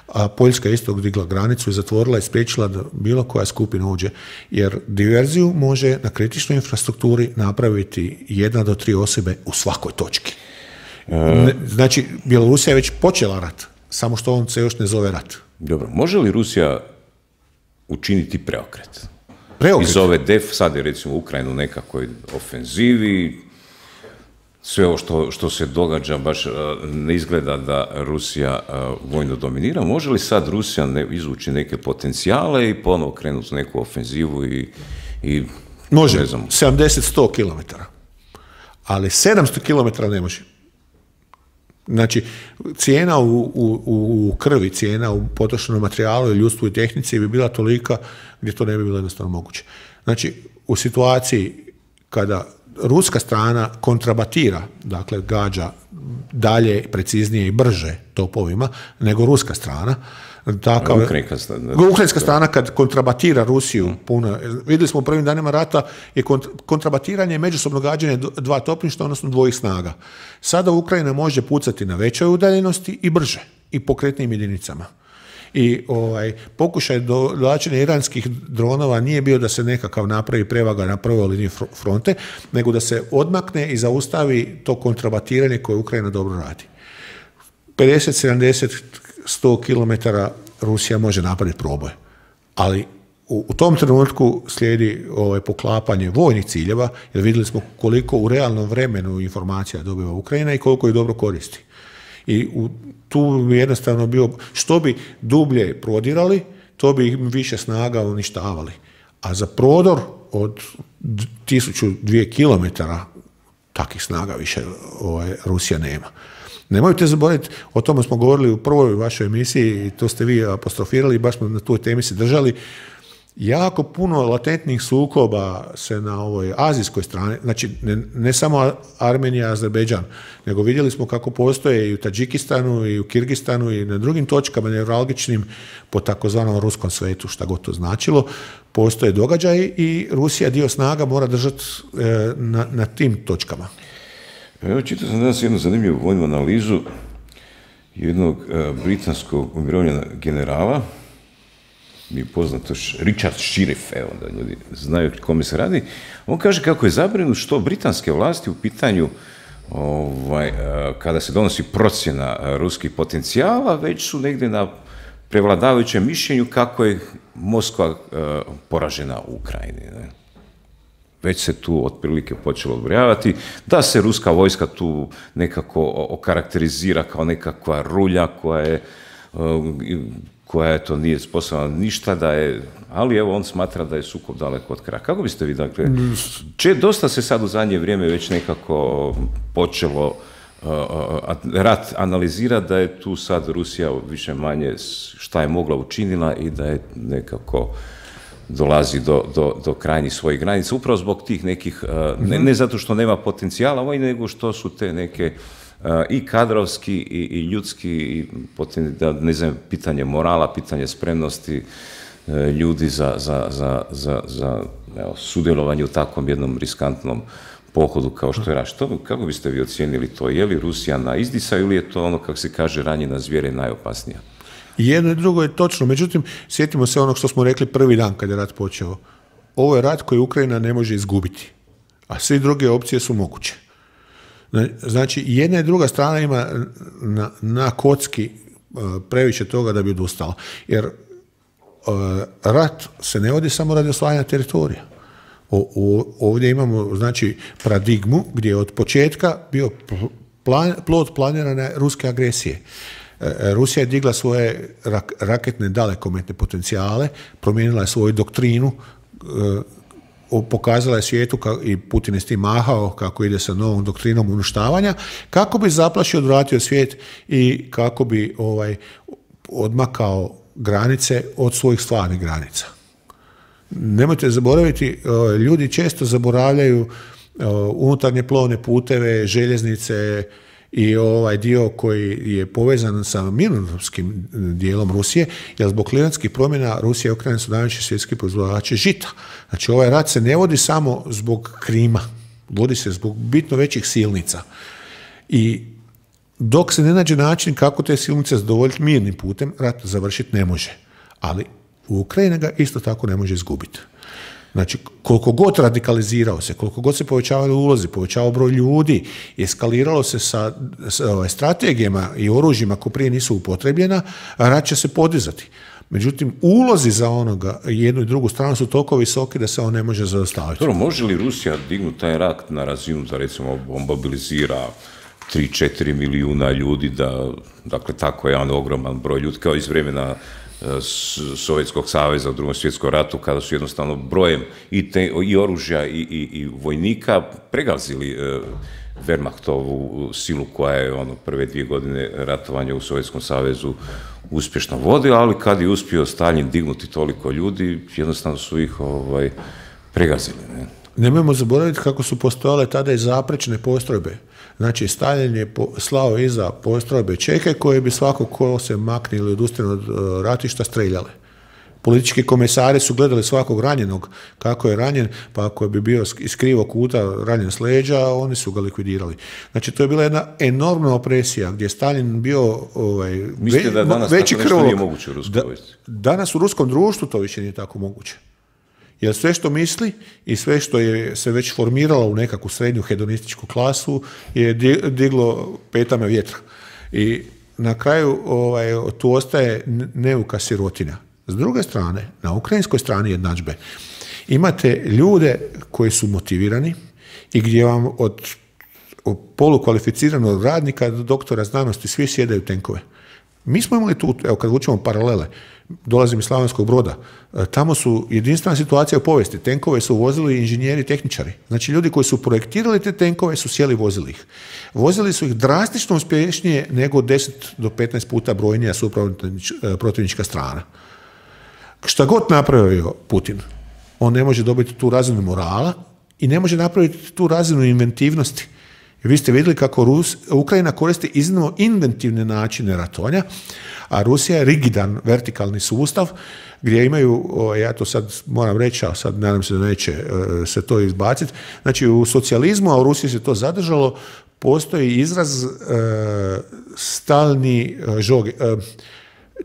a Poljska isto digla granicu i zatvorila i spriječila da bilo koja skupina uđe. Jer diverziju može na kritičnoj infrastrukturi napraviti jedna do tri osobe u svakoj točki. Znači, Bjelorusija je već počela rat, samo što on se još ne zove rat. Dobro, može li Rusija učiniti preokret? Preokret? Iz ove def, sad je recimo Ukrajinu nekakvoj ofenzivi, sve ovo što, što se događa baš ne izgleda da Rusija vojno dominira. Može li sad Rusija ne, izvući neke potencijale i ponovo krenuti neku ofenzivu i... i može, ne znam, sedamdeset do sto kilometara, ali sedamsto kilometara ne može. Znači, cijena u, u, u krvi, cijena u potrošenom materijalu i ljudstvu i tehnici bi bila tolika gdje to ne bi bilo jednostavno moguće. Znači, u situaciji kada ruska strana kontrabatira, dakle gađa dalje, preciznije i brže topovima nego ruska strana, takav, Ukrajinska strana, Ukrajinska strana kad kontrabatira Rusiju puno, vidjeli smo u prvim danima rata je kontrabatiranje i međusobno gađanje dva topništva, odnosno dvojih snaga. Sada Ukrajina može pucati na većoj udaljenosti i brže i pokretnim jedinicama. I ovaj, pokušaj dolačenja iranskih dronova nije bio da se nekakav napravi prevaga na prvoj liniji fronte, nego da se odmakne i zaustavi to kontrabatiranje koje Ukrajina dobro radi. pedeset, sedamdeset, sto kilometara Rusija može napraviti proboj, ali u, u tom trenutku slijedi ovaj, poklapanje vojnih ciljeva, jer vidjeli smo koliko u realnom vremenu informacija dobiva Ukrajina i koliko ih dobro koristi. I u, tu bi jednostavno bio, što bi dublje prodirali, to bi ih više snaga uništavali. A za prodor od tisuću dvije kilometara takvih snaga više ovaj, Rusija nema. Nemojte zaboraviti, o tome smo govorili u prvoj vašoj emisiji i to ste vi apostrofirali, baš smo na toj temi se držali. Jako puno latentnih sukoba se na ovoj azijskoj strani, znači ne, ne samo Armenija, Azerbejdžan, nego vidjeli smo kako postoje i u Tadžikistanu i u Kirgistanu i na drugim točkama neuralgičnim po takozvanom ruskom svetu, šta god to značilo, postoje događaji i Rusija dio snaga mora držati e, na, na tim točkama. Evo, čitao sam danas jednu zanimljivu vojnu analizu jednog e, britanskog umirovljenog generala, mi je poznato Richard Shirif, evo da ljudi znaju kome se radi. On kaže kako je zabrinut što britanske vlasti u pitanju ovaj, kada se donosi procjena ruskih potencijala, već su negdje na prevladavajućem mišljenju kako je Moskva uh, poražena u Ukrajini. Ne? Već se tu otprilike počelo odbrojavati da se ruska vojska tu nekako okarakterizira kao nekakva rulja koja je uh, koja je to nije sposobna ništa, da je, ali evo on smatra da je sukob daleko od kraja. Kako biste vi, dakle, če dosta se sad u zadnje vrijeme već nekako počelo uh, rat analizirati da je tu sad Rusija više manje šta je mogla učinila i da je nekako dolazi do, do, do krajnjih svojih granica, upravo zbog tih nekih, uh, ne, ne zato što nema potencijala ovaj, nego što su te neke Uh, i kadrovski i, i ljudski, i poten, da, ne znam, pitanje morala, pitanje spremnosti uh, ljudi za, za, za, za, za evo, sudjelovanje u takvom jednom riskantnom pohodu kao što je rat. Što, kako biste vi ocijenili to? Je li Rusija na izdisaju ili je to ono, kako se kaže, ranjena zvijera najopasnija? Jedno i drugo je točno, međutim, sjetimo se onog što smo rekli prvi dan kad je rat počeo. Ovo je rat koji Ukrajina ne može izgubiti, a sve druge opcije su moguće. Znači, jedna i druga strana ima na, na kocki uh, previše toga da bi odustala. Jer uh, rat se ne vodi samo radi osvajanja teritorija. O, o, ovdje imamo, znači, paradigmu gdje je od početka bio plan, plod planirane ruske agresije. Uh, Rusija je digla svoje rak, raketne dalekometne potencijale, promijenila je svoju doktrinu, uh, pokazala je svijetu i Putin je s tim mahao kako ide sa novom doktrinom uništavanja, kako bi zaplašio, odvratio svijet i kako bi ovaj, odmakao granice od svojih stvarnih granica. Nemojte zaboraviti, ljudi često zaboravljaju unutarnje plovne puteve, željeznice i ovaj dio koji je povezan sa mirnodopskim dijelom Rusije, jer zbog klimatskih promjena Rusija i Ukrajina su najveći svjetski proizvođači žita. Znači, ovaj rat se ne vodi samo zbog Krima, vodi se zbog bitno većih silnica. I dok se ne nađe način kako te silnice zadovoljiti mirnim putem, rat završiti ne može. Ali u Ukrajini ga isto tako ne može izgubiti. Znači, koliko god radikalizirao se, koliko god se povećavali ulozi, povećavao broj ljudi, eskaliralo se sa, sa ovaj, strategijama i oružjima koje prije nisu upotrebljena, rat će se podizati. Međutim, ulozi za onoga jednu i drugu stranu su toliko visoki da se on ne može zaustaviti. Dobro, može li Rusija dignuti taj rat na razinu da, recimo, mobilizira tri četiri milijuna ljudi, da, dakle, tako je jedan ogroman broj ljudi, kao iz vremena Sovjetskog saveza u drugom svjetskom ratu, kada su jednostavno brojem i, te, i oružja i, i, i vojnika pregazili Wehrmachtovu silu koja je ono, prve dvije godine ratovanja u Sovjetskom savezu uspješno vodila, ali kad je uspio Stalin dignuti toliko ljudi, jednostavno su ih ovaj, pregazili. Ne? Nemojmo zaboraviti kako su postojale tada i zaprečne postrojbe. Znači, Stalin je slao iza postrojbe čeke koje bi svako ko se makne ili odustane od ratišta streljale. Politički komesari su gledali svakog ranjenog kako je ranjen, pa ako bi bio iz krivog kuta ranjen s leđa, oni su ga likvidirali. Znači, to je bila jedna enormna opresija gdje je Stalin bio ovaj, Mislite da danas veći tako nešto krvolok. nije moguće u ruskoj vojsci? Da, danas u ruskom društvu to više nije tako moguće. Jer sve što misli i sve što je se već formiralo u nekakvu srednju hedonističku klasu je diglo petama vjetra. I na kraju ovaj, tu ostaje neuka sirotina. S druge strane, na ukrajinskoj strani jednadžbe, imate ljude koji su motivirani i gdje vam od, od polukvalificiranog radnika do doktora znanosti svi sjedaju tenkove. Mi smo imali tu, evo kad vučemo paralele, dolazim iz Slavonskog Broda, tamo su jedinstvena situacija u povijesti. Tenkove su vozili inženjeri, tehničari. Znači ljudi koji su projektirali te tenkove su sjeli i vozili ih. Vozili su ih drastično uspješnije nego deset do petnaest puta brojnija su protivnička strana. Šta god napravio Putin, on ne može dobiti tu razinu morala i ne može napraviti tu razinu inventivnosti. Vi ste vidjeli kako Rus, Ukrajina koristi iznimno inventivne načine ratovanja, a Rusija je rigidan vertikalni sustav gdje imaju, o, ja to sad moram reći, a sad nadam se da neće e, se to izbaciti, znači u socijalizmu, a u Rusiji se to zadržalo, postoji izraz e, stalni e, žog, e,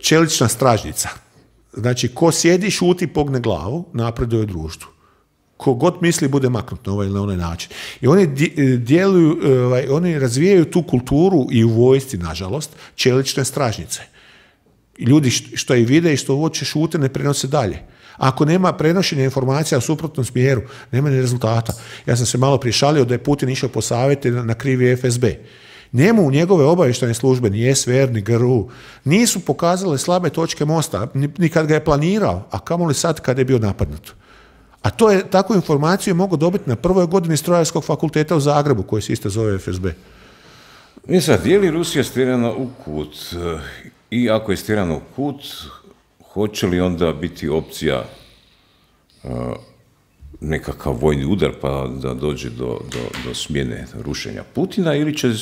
čelična stražnjica. Znači, ko sjedi, šuti, pogne glavu, napreduje u društvu. Ko god misli bude maknut na ovaj ili na onaj način. I oni djeluju, oni razvijaju tu kulturu i u vojsci, nažalost, čelične stražnjice. Ljudi što i vide i što uoče šute ne prenose dalje. Ako nema prenošenja informacija u suprotnom smjeru, nema ni rezultata. Ja sam se malo prije šalio da je Putin išao po savjete na krivi F S B. Njemu u njegove obavještajne službe, ni S V R, ni G R U, nisu pokazale slabe točke mosta, ni kad ga je planirao, a kamoli sad kad je bio napadnut. A to je, takvu informaciju mogu dobiti na prvoj godini Strojarskog fakulteta u Zagrebu, koji se isto zove F S B. I sad, je li Rusija stjerana u kut? I ako je stjerana u kut, hoće li onda biti opcija uh, nekakav vojni udar pa da dođe do, do, do smjene rušenja Putina ili će,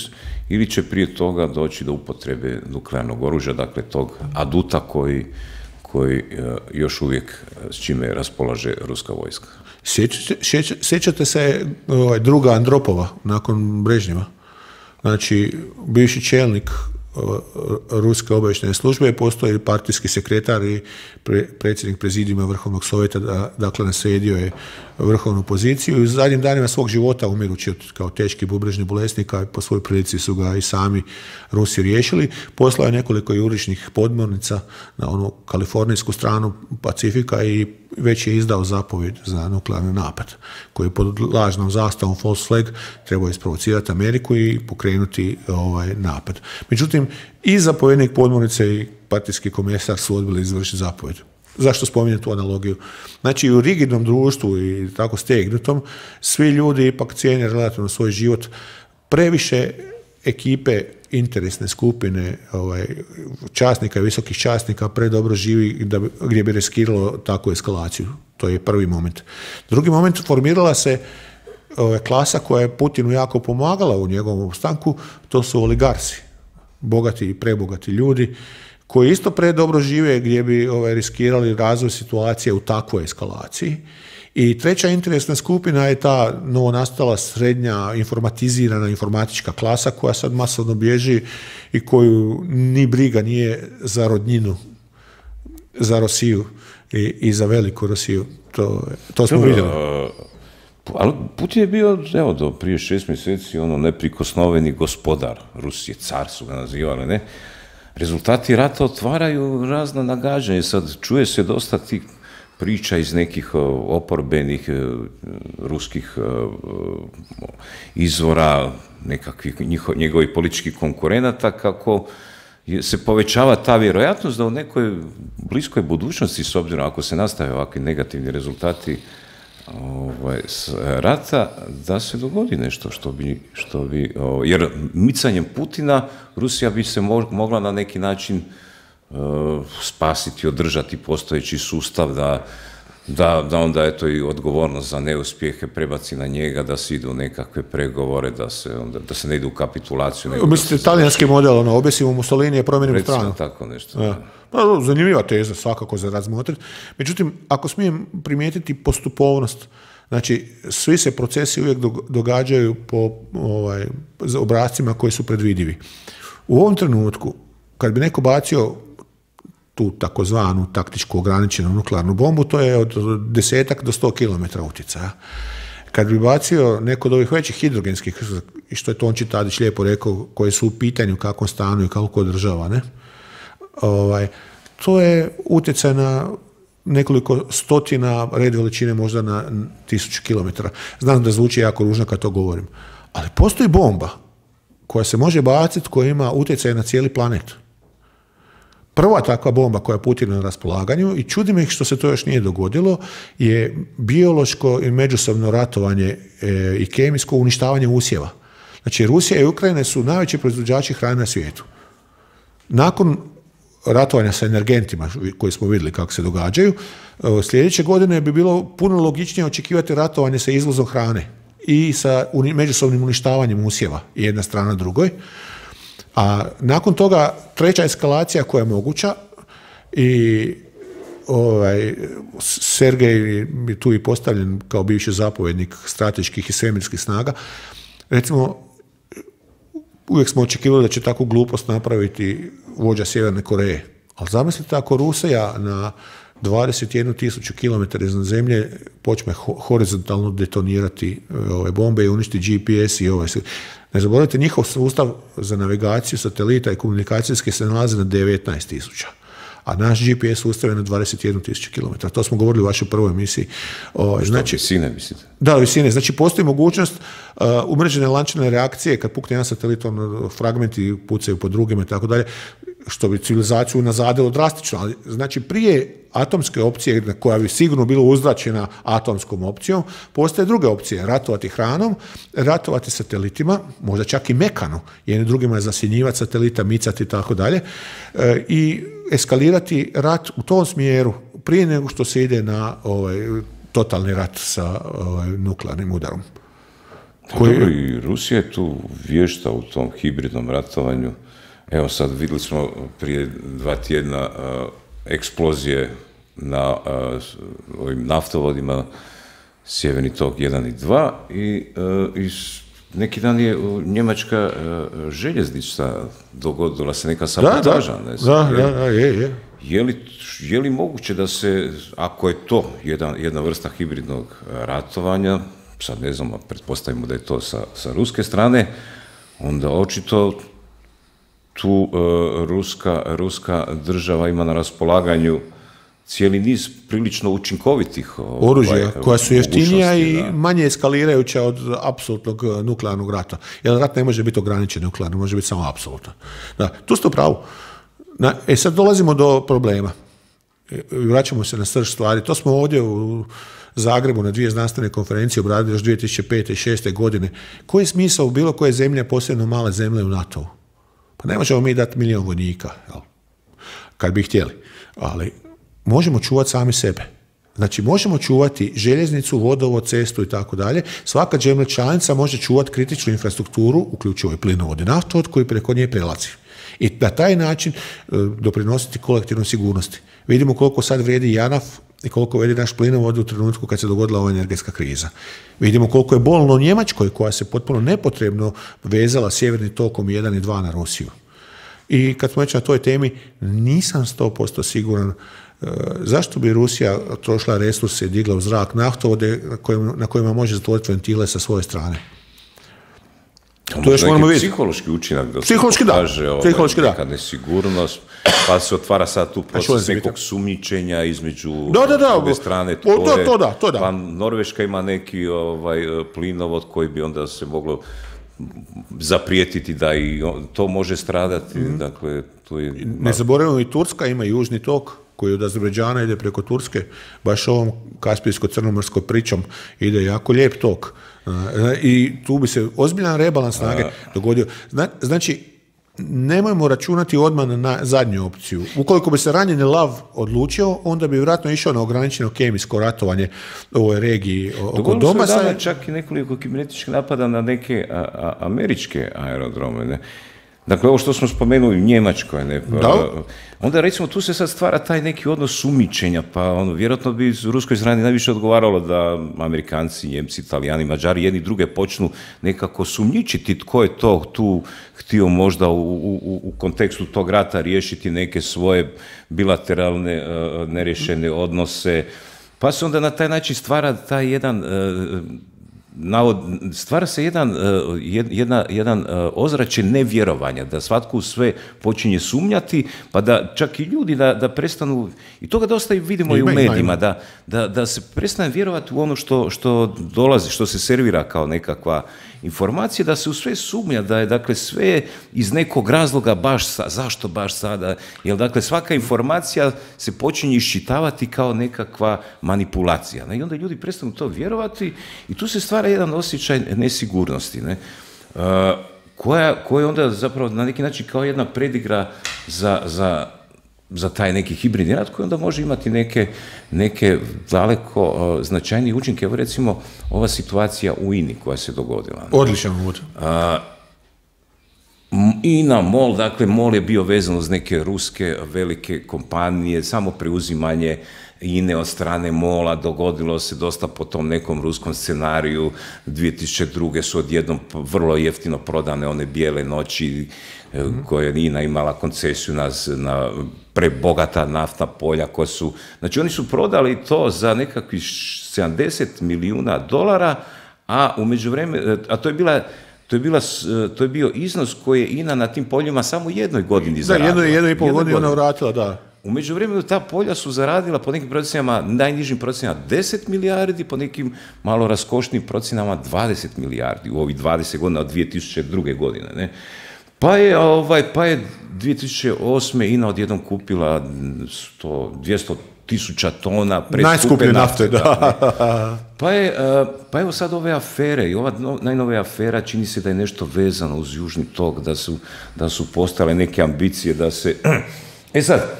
ili će prije toga doći do upotrebe nuklearnog oružja, dakle tog aduta koji koji još uvijek s čime raspolaže ruska vojska. Sjećate, sjećate se ovaj, druga Andropova nakon Brežnjeva. Znači, bivši čelnik ruske obavještajne službe, postoji partijski sekretar i pre, predsjednik prezidijuma Vrhovnog sovjeta, da, dakle naslijedio je vrhovnu poziciju i u zadnjim danima svog života, umirući kao teški bubrežni bolesnika, po svojoj prilici su ga i sami Rusi riješili. Poslao je nekoliko jurišnih podmornica na onu kalifornijsku stranu Pacifika i već je izdao zapovjed za nuklearni napad, koji je pod lažnom zastavom false flag trebao isprovocirati Ameriku i pokrenuti ovaj napad. Međutim, i zapovjednik podmornice i partijski komesar su odbili izvršiti zapovjed. Zašto spominjem tu analogiju? Znači, u rigidnom društvu i tako stegnutom, svi ljudi ipak cijene relativno svoj život. Previše ekipe, interesne skupine, ovaj, časnika i visokih časnika predobro živi da bi, gdje bi riskiralo takvu eskalaciju. To je prvi moment. Drugi moment, formirala se ovaj, klasa koja je Putinu jako pomagala u njegovom opstanku, to su oligarsi, bogati i prebogati ljudi, koji isto predobro žive gdje bi ovaj, riskirali razvoj situacije u takvoj eskalaciji. I treća interesna skupina je ta novonastala srednja informatizirana informatička klasa koja sad masovno bježi i koju ni briga nije za rodnjinu, za Rosiju i, i za veliku Rosiju. To, to smo Dobro, vidjeli. Ali Putin je bio, evo, do prije šest mjeseci ono neprikosnoveni gospodar Rusije, car su ga nazivali, ne? Rezultati rata otvaraju razna nagađanja. Sad čuje se dosta tih priča iz nekih oporbenih ruskih izvora, nekakvih njegovih političkih konkurenata, kako se povećava ta vjerojatnost da u nekoj bliskoj budućnosti, s obzirom ako se nastave ovakvi negativni rezultati ovaj, s rata, da se dogodi nešto što bi, što bi o, jer micanjem Putina Rusija bi se mo, mogla na neki način o, spasiti, održati postojeći sustav, da, da, da onda eto i odgovornost za neuspjehe prebaci na njega, da se ide u nekakve pregovore, da se, onda, da se ne ide u kapitulaciju. Mislite, se... talijanski model, ono, objesimo Mussolini je promijenimo stranu. Tako nešto. Ja. Pa, zanimljiva teza, svakako za razmotriti. Međutim, ako smijem primijetiti postupovnost, znači, svi se procesi uvijek događaju po ovaj, obrascima koji su predvidivi. U ovom trenutku, kad bi neko bacio tu takozvanu taktičku ograničenu nuklearnu bombu, to je od desetak do sto kilometara utjecaja. Kad bi bacio neko od ovih većih hidrogenskih, i što je Tonči Tadić lijepo rekao, koje su u pitanju kakvom stanu i kako održava, ne? Ovaj, to je utjecaj na nekoliko stotina, red veličine možda na tisuću kilometara. Znam da zvuči jako ružno kad to govorim. Ali postoji bomba koja se može baciti, koja ima utjecaj na cijeli planet. Prva takva bomba koja je Putin na raspolaganju, i čudi me što se to još nije dogodilo, je biološko i međusobno ratovanje e, i kemijsko uništavanje usjeva. Znači, Rusija i Ukrajina su najveći proizvođači hrane na svijetu. Nakon ratovanja sa energentima, koji smo vidjeli kako se događaju, sljedeće godine bi bilo puno logičnije očekivati ratovanje sa izvozom hrane i sa međusobnim uništavanjem usjeva jedna strana drugoj. A nakon toga treća eskalacija koja je moguća, i ovaj, Sergej je tu i postavljen kao bivši zapovjednik strateških i svemirskih snaga, recimo, uvijek smo očekivali da će takvu glupost napraviti vođa Sjeverne Koreje. Ali zamislite ako Rusija na dvadeset jednu tisuću kilometara iznad zemlje počne horizontalno detonirati ove bombe i uništi G P S i ove. Ne zaboravite, njihov sustav za navigaciju satelita i komunikacijske se nalazi na devetnaest tisuća. A naš G P S sustav je na dvadeset jednu tisuću kilometara. To smo govorili u vašoj prvoj emisiji. O, znači, visine, mislite? Da, visine. Znači, postoji mogućnost uh, umrežene lančane reakcije, kad pukne jedan satelit, on, fragmenti pucaju po drugima i tako dalje, što bi civilizaciju nazadilo drastično. Ali, znači, prije atomske opcije, koja bi sigurno bila uzračena atomskom opcijom, postoje druge opcije. Ratovati hranom, ratovati satelitima, možda čak i mekano, jedni drugima zasjenjivati satelita, micati i tako dalje, i eskalirati rat u tom smjeru prije nego što se ide na ovaj, totalni rat sa ovaj, nuklearnim udarom. Koji... Dobro, i Rusija je tu vješta u tom hibridnom ratovanju. Evo sad vidjeli smo prije dva tjedna uh, eksplozije na uh, ovim naftovodima Sjeverni tok jedan i dva i, uh, i neki dan je njemačka uh, željeznica dogodila se neka sabotaža. Da, da, da, da, je, je. Je li, je li moguće da se, ako je to jedna, jedna vrsta hibridnog ratovanja, sad ne znam, pretpostavimo da je to sa, sa ruske strane, onda očito tu uh, ruska, ruska država ima na raspolaganju cijeli niz prilično učinkovitih oružja, ovaj, koja su jeftinija i da. manje eskalirajuća od apsolutnog nuklearnog rata. Jer rat ne može biti ograničen nuklearno, može biti samo apsolutan. Da, tu ste u pravu. Na, e sad dolazimo do problema. Vraćamo se na srž stvari. To smo ovdje u Zagrebu na dvije znanstvene konferencije obradili još dvije tisuće pete i dvije tisuće šeste. godine. Koji je smisao u bilo koje zemlje, posebno male zemlje u NATO-u? Pa ne možemo mi dati milijon vojnika, jel? Kad bi htjeli. Ali možemo čuvati sami sebe. Znači, možemo čuvati željeznicu, vodovod, cestu i tako dalje. Svaka zemlja članica može čuvati kritičnu infrastrukturu, uključivo i plinovod i naftovod koji preko nje prelazi. I na taj način e, doprinositi kolektivnoj sigurnosti. Vidimo koliko sad vrijedi JANAF i koliko vrijedi naš plinovod u trenutku kad se dogodila ova energetska kriza. Vidimo koliko je bolno Njemačkoj, koja se potpuno nepotrebno vezala sjeverni tokom jedan i dva na Rusiju. I kad smo već na toj temi, nisam sto posto siguran e, zašto bi Rusija trošila resurse i digla u zrak naftovode na kojima, na kojima može zatvoriti ventile sa svoje strane. To još moramo vidjeti. Psihološki učinak da se pokaže ovaj, neka nesigurnost, pa se otvara sad tu proces nekog sumnjičenja između da, da, da, druge strane tvoje, to, to da, to da. Pa Norveška ima neki ovaj, plinovod koji bi onda se moglo zaprijetiti da i to može stradati. Mm. Dakle, to je... Ne zaboravimo, i Turska ima južni tok koji od Azerbejdžana ide preko Turske, baš ovom kaspijsko-crnomorskom pričom ide jako lijep tok. I tu bi se ozbiljan rebalans snage dogodio. Znači, nemojmo računati odmah na zadnju opciju. Ukoliko bi se ranjeni lav odlučio, onda bi vjerojatno išao na ograničeno kemijsko ratovanje u ovoj regiji oko Doma. Dogodilo se čak i nekoliko kibernetičkih napada na neke a, a, američke aerodrome, ne? Dakle, ovo što smo spomenuli u Njemačkoj, ne, pa, onda recimo tu se sad stvara taj neki odnos sumnjičenja, pa ono, vjerojatno bi u ruskoj strani najviše odgovaralo da Amerikanci, Njemci, Italijani, Mađari, jedni druge počnu nekako sumnjičiti tko je to tu htio možda u, u, u kontekstu tog rata riješiti neke svoje bilateralne uh, nerješene odnose, pa se onda na taj način stvara taj jedan... Uh, Navod, stvara se jedan, jedna, jedan ozračje nevjerovanja, da svatko u sve počinje sumnjati, pa da čak i ljudi da, da prestanu, i toga dosta vidimo i u medijima, da, da, da se prestane vjerovati u ono što, što dolazi, što se servira kao nekakva informacija, da se u sve sumnja, da je dakle sve iz nekog razloga baš sa, zašto baš sada, jer dakle svaka informacija se počinje iščitavati kao nekakva manipulacija, ne? I onda ljudi prestanu to vjerovati i tu se stvara jedan osjećaj nesigurnosti, ne? Uh, koja, koja onda zapravo na neki način kao jedna predigra za, za, za taj neki hibridni rat koji onda može imati neke, neke daleko uh, značajnije učinke. Evo recimo ova situacija u I N A koja se dogodila. Odličan uvod. Uh, I N A, MOL, dakle MOL je bio vezan uz neke ruske velike kompanije, samo preuzimanje I N A od strane MOL-a, dogodilo se dosta po tom nekom ruskom scenariju, dvije tisuće druge su odjednom vrlo jeftino prodane one bijele noći mm-hmm. koje je I N A imala koncesiju na, na prebogata naftna polja koja su, znači oni su prodali to za nekakvih sedamdeset milijuna dolara, a u međuvremenu, a to je bila To je, bila, to je bio iznos koji je I N A na tim poljima samo jednoj godini zaradila. Da, jedno, jedno i pol godini ona vratila, da. U međuvremenu ta polja su zaradila po nekim procjenama, najnižim procjenama deset milijardi, po nekim malo raskošnim procjenama dvadeset milijardi u ovih dvadeset godina od dvije tisuće druge. godine. Ne? Pa je, ovaj, pa je dvije tisuće osme. I N A odjednom kupila sto, dvjesto tisuća tona preskupe nafte. Da. Pa, je, pa evo sad ove afere, i ova najnovija afera čini se da je nešto vezano uz Južni tok, da su, da su postale neke ambicije da se... E sad,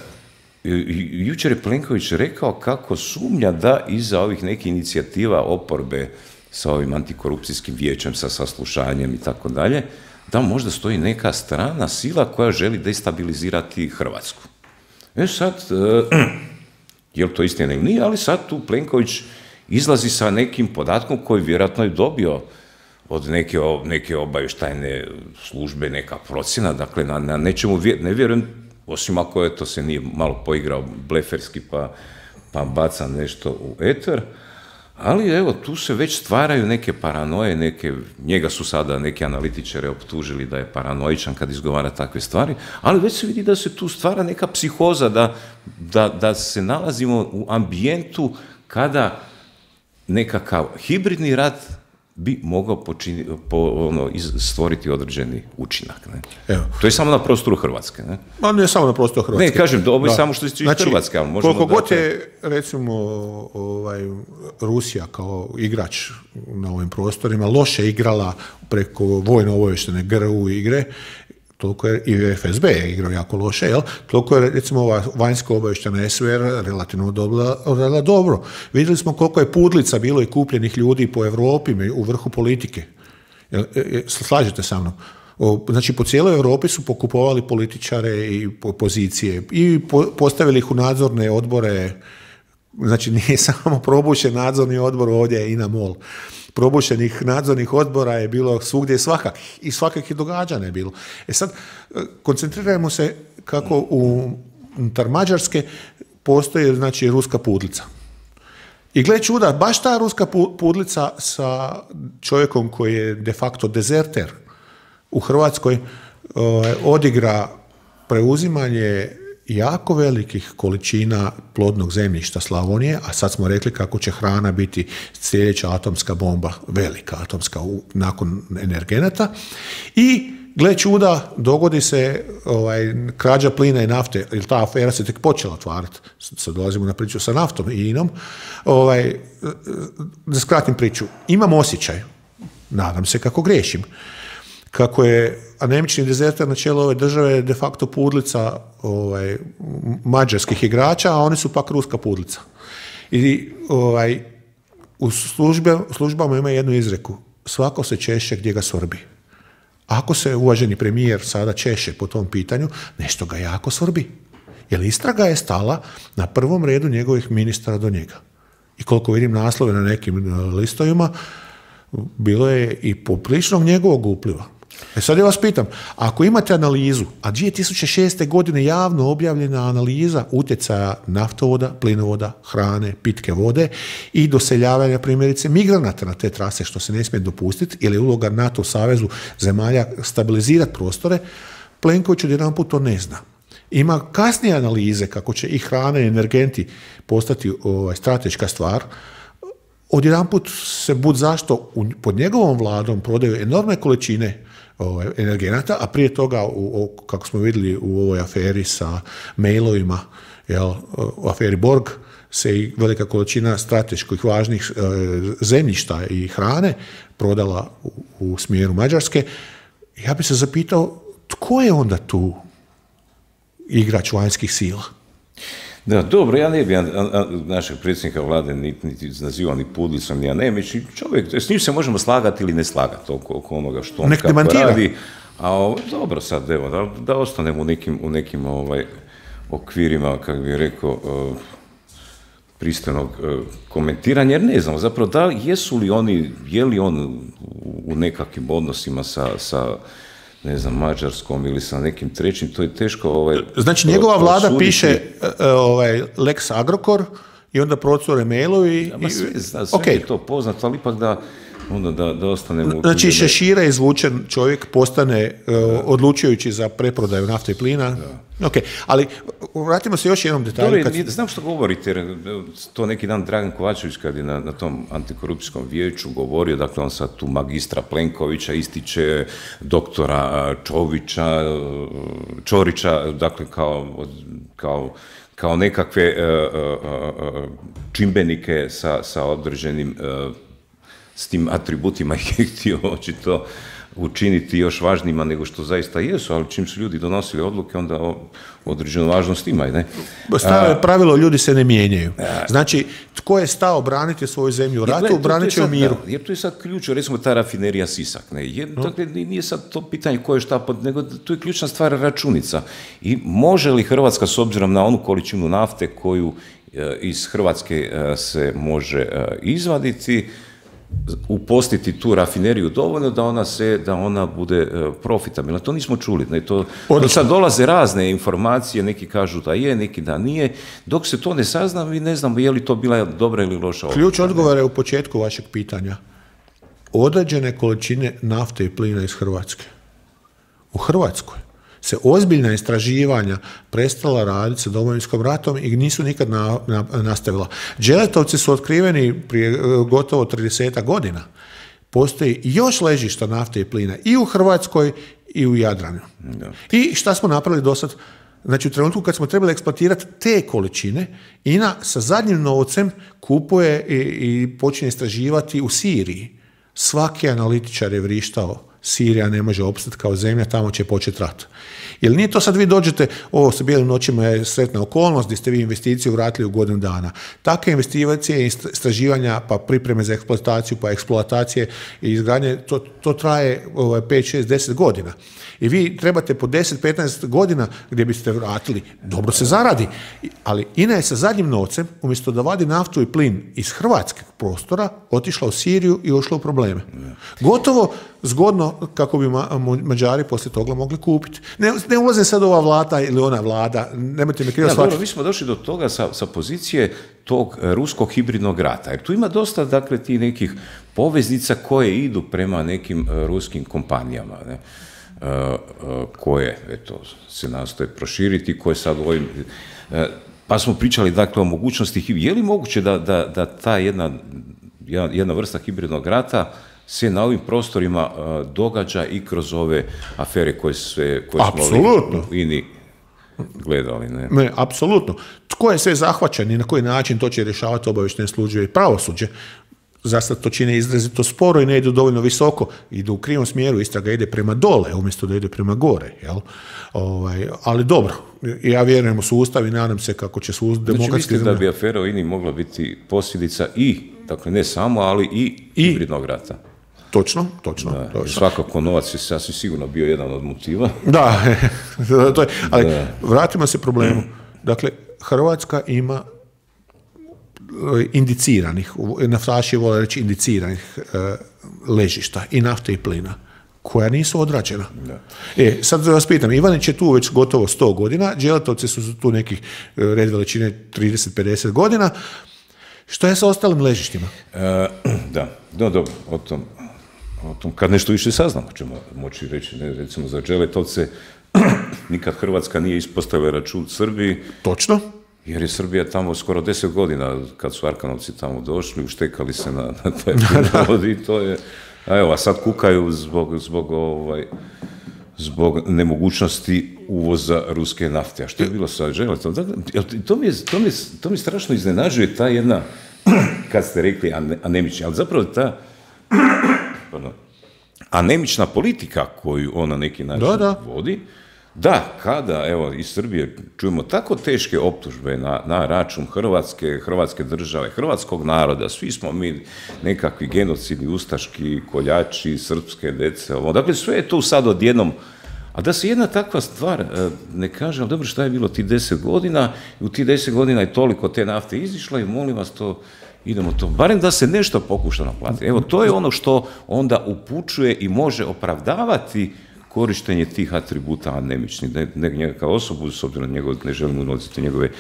jučer je Plenković rekao kako sumnja da iza ovih nekih inicijativa oporbe sa ovim antikorupcijskim vijećem, sa saslušanjem i tako dalje, da možda stoji neka strana sila koja želi destabilizirati Hrvatsku. E sad... Je li to istina ili nije, ali sad tu Plenković izlazi sa nekim podatkom koji vjerojatno je dobio od neke, neke obavještajne službe, neka procjena, dakle na, na nečemu ne vjerujem, osim ako je to se nije malo poigrao bleferski pa, pa baca nešto u eter, ali evo tu se već stvaraju neke paranoje, neke, njega su sada neki analitičari optužili da je paranoičan kad izgovara takve stvari, ali već se vidi da se tu stvara neka psihoza, da, da, da se nalazimo u ambijentu kada nekakav hibridni rat bi mogao počini, po, ono, stvoriti određeni učinak. Ne? Evo. To je samo na prostoru Hrvatske. Ne, Ma ne samo na prostoru Hrvatske. Ne, kažem, ovo je samo što se tiče znači, Hrvatske. Ali možemo koliko god je, recimo, ovaj, Rusija kao igrač na ovim prostorima loše igrala preko vojno-obavještene G R U igre, toliko je i F S B je igrao jako loše, jel? Toliko je, recimo, ova vanjska obavještena S V R relativno dobro, dobro. Vidjeli smo koliko je pudlica bilo i kupljenih ljudi po Europi u vrhu politike. Jel, slažete sa mnom? Znači, po cijeloj Europi su pokupovali političare i pozicije i postavili ih u nadzorne odbore. Znači, nije samo probušen nadzorni odbor, ovdje je I N A MOL. Probušenih nadzornih odbora je bilo svugdje svakakih i svakakih događanja je bilo. E sad, koncentrirajmo se kako unutar Mađarske postoji, znači, ruska pudlica. I gle čuda, baš ta ruska pudlica sa čovjekom koji je de facto dezerter u Hrvatskoj odigra preuzimanje jako velikih količina plodnog zemljišta Slavonije, a sad smo rekli kako će hrana biti sljedeća atomska bomba, velika atomska nakon energenata, i gle čuda, dogodi se ovaj, krađa plina i nafte, jer ta afera se tek počela otvarati. Sad dolazimo na priču sa naftom i inom. Ovaj, da skratim priču, imam osjećaj, nadam se kako griješim, kako je anemični dezerter na čelu ove države de facto pudlica ovaj, mađarskih igrača, a oni su pak ruska pudlica. I ovaj, u službe, službama ima jednu izreku, svako se češe gdje ga svrbi. Ako se uvaženi premijer sada češe po tom pitanju, nešto ga jako svrbi. Jer istraga je stala na prvom redu njegovih ministara do njega. I koliko vidim naslove na nekim listovima, bilo je i popriličnog njegovog upliva. E sad ja vas pitam, ako imate analizu, a dvije tisuće šeste. godine javno objavljena analiza utjecaja naftovoda, plinovoda, hrane, pitke vode i doseljavanja primjerice migranata na te trase, što se ne smije dopustiti, jer je uloga NATO savezu zemalja stabilizirati prostore, Plenković odjedanput to ne zna. Ima kasnije analize kako će i hrana i energenti postati ovaj, strateška stvar. Odjedanput se bud zašto u, pod njegovom vladom prodaju enormne količine ovaj, energenata, a prije toga, u, u, kako smo vidjeli u ovoj aferi sa mailovima, jel, u aferi Borg, se i velika količina strateških važnih e, zemljišta i hrane prodala u, u smjeru Mađarske. Ja bih se zapitao, tko je onda tu igrač vanjskih sila? Da, dobro, ja ne bi našeg predsjednika vlade niti, niti nazivao ni pudlicom, ni anemić. Čovjek, s njim se možemo slagati ili ne slagati oko, oko onoga što on kako radi. A ovo, dobro sad, evo, da, da ostanemo u nekim, u nekim ovaj, okvirima, kako bih rekao, uh, pristojnog uh, komentiranja, jer ne znam, zapravo, da, jesu li oni, je li on u, u nekakvim odnosima sa, sa ne znam, Mađarskom ili sa nekim trećim, to je teško... Ovaj, znači, njegova vlada suditi. Piše ovaj, Lex Agrokor i onda procure mailovi... Ja, ma sve, zna, sve okay. je to poznato, ali ipak da, onda da, da ostanemo... Znači, Šešira izvučen čovjek postane uh, odlučujući za preprodaju nafte i plina. Da. Ok, ali vratimo se još jednom detalju. Dobre, kad... Znam što govorite, jer to neki dan Dragan Kovačević kad je na, na tom antikorupcijskom vijeću govorio, dakle on sad tu magistra Plenkovića ističe, doktora Čovića, Čorića, dakle kao, kao, kao nekakve uh, uh, čimbenike sa, sa određenim uh, s tim atributima i htio očito učiniti još važnijima nego što zaista jesu, ali čim su ljudi donosili odluke, onda određenu važnost imaju. Ne? Staro je pravilo, ljudi se ne mijenjaju. Znači, tko je stao braniti svoju zemlju u ratu, branit će u miru. Da, jer tu je sad ključ, recimo ta rafinerija Sisak. Ne? Jer, no. Dakle, nije sad to pitanje ko je šta, pod, nego tu je ključna stvar računica. I može li Hrvatska, s obzirom na onu količinu nafte koju e, iz Hrvatske e, se može e, izvaditi, upostiti tu rafineriju dovoljno da ona se, da ona bude uh, profitabilna. To nismo čuli. Ne? To, to sad dolaze razne informacije, neki kažu da je, neki da nije. Dok se to ne sazna, mi ne znamo je li to bila dobra ili loša odluka. Ključ odgovora je u početku vašeg pitanja. Određene količine nafte i plina iz Hrvatske. U Hrvatskoj se ozbiljna istraživanja prestala raditi sa Domovinskom ratom i nisu nikad na, na, nastavila. Đeletovci su otkriveni prije gotovo trideset godina. Postoji još ležišta nafte i plina i u Hrvatskoj i u Jadranu. Da. I šta smo napravili do sad? Znači, u trenutku kad smo trebali eksploatirati te količine, I N A sa zadnjim novcem kupuje i, i počinje istraživati u Siriji. Svaki analitičar je vrištao, Sirija ne može opstati kao zemlja, tamo će početi rat. Jer nije to sad vi dođete, ovo sa bijelim noćima je sretna okolnost, gdje ste vi investiciju vratili u godinu dana. Takve investicije, istraživanja, pa pripreme za eksploataciju, pa eksploatacije i izgradnje, to, to traje pet, šest, deset godina. I vi trebate po deset, petnaest godina gdje biste vratili, dobro se zaradi, ali I N A je sa zadnjim novcem, umjesto da vadi naftu i plin iz hrvatskog prostora, otišla u Siriju i ušla u probleme. Gotovo zgodno kako bi ma, Mađari poslije toga mogli kupiti. Ne, ne ulazim sad ova vlada ili ona vlada, nemojte me krivo ja, shvatiti. Mi smo došli do toga sa, sa pozicije tog ruskog hibridnog rata, jer tu ima dosta, dakle, ti nekih poveznica koje idu prema nekim ruskim kompanijama, ne? koje eto, se nastoje proširiti, koje sad u ovim... Pa smo pričali dakle o mogućnosti, je li moguće da, da, da ta jedna, jedna vrsta hibridnog rata se na ovim prostorima uh, događa i kroz ove afere koje, sve, koje smo u INI gledali? Ne? Ne, apsolutno. Tko je sve zahvaćen i na koji način to će rješavati obavještajne službe i pravosuđe? Zasad to čine izrazito sporo i ne idu dovoljno visoko, idu u krivom smjeru, istraga ide prema dole umjesto da ide prema gore. Jel? Ovaj, ali dobro, ja vjerujem u sustav i nadam se kako će sustav znači, demokratski... Mislite da bi afera o INI mogla biti posljedica i, dakle ne samo, ali i, I hibridnog rata? Točno, točno. Da, točno. svakako novac je sasvim sigurno bio jedan od motiva. Da, to je, ali da. Vratimo se problemu. Dakle, Hrvatska ima indiciranih, naftaši vole reći indiciranih uh, ležišta i nafte i plina, koja nisu odrađena. Da. E, sad vas pitam, Ivanić je tu već gotovo sto godina, Đeletovci su tu nekih red veličine trideset do pedeset godina. Što je sa ostalim ležištima? E, da, no, dobro, o tom, o tom, kad nešto više saznamo, ćemo moći reći, ne, recimo za Đeletovce, nikad Hrvatska nije ispostavila račun Srbiji. Točno. Jer je Srbija tamo skoro deset godina, kad su Arkanovci tamo došli, uštekali se na, na taj plinovod i to je, a evo, a sad kukaju zbog, zbog, ovaj, zbog nemogućnosti uvoza ruske nafte. A što je bilo sa Đeletom? To mi, to, mi, to mi strašno iznenađuje ta jedna, kad ste rekli anemična, ali zapravo ta pardon, anemična politika koju ona neki način da, da. vodi. Da, kada, evo, iz Srbije čujemo tako teške optužbe na, na račun Hrvatske, Hrvatske države, hrvatskog naroda, svi smo mi nekakvi genocidni, ustaški, koljači, srpske dece, ovo. Dakle, sve je to sad odjednom, a da se jedna takva stvar ne kaže, ali dobro, šta je bilo ti deset godina, i u ti deset godina je toliko te nafte izišla i molim vas to, idemo to, barem da se nešto pokuša naplatiti. Evo, to je ono što onda upućuje i može opravdavati korištenje tih atributa anemičnih, ne, ne njega kao osobu, s obzirom na njegov, ne želimo unositi njegove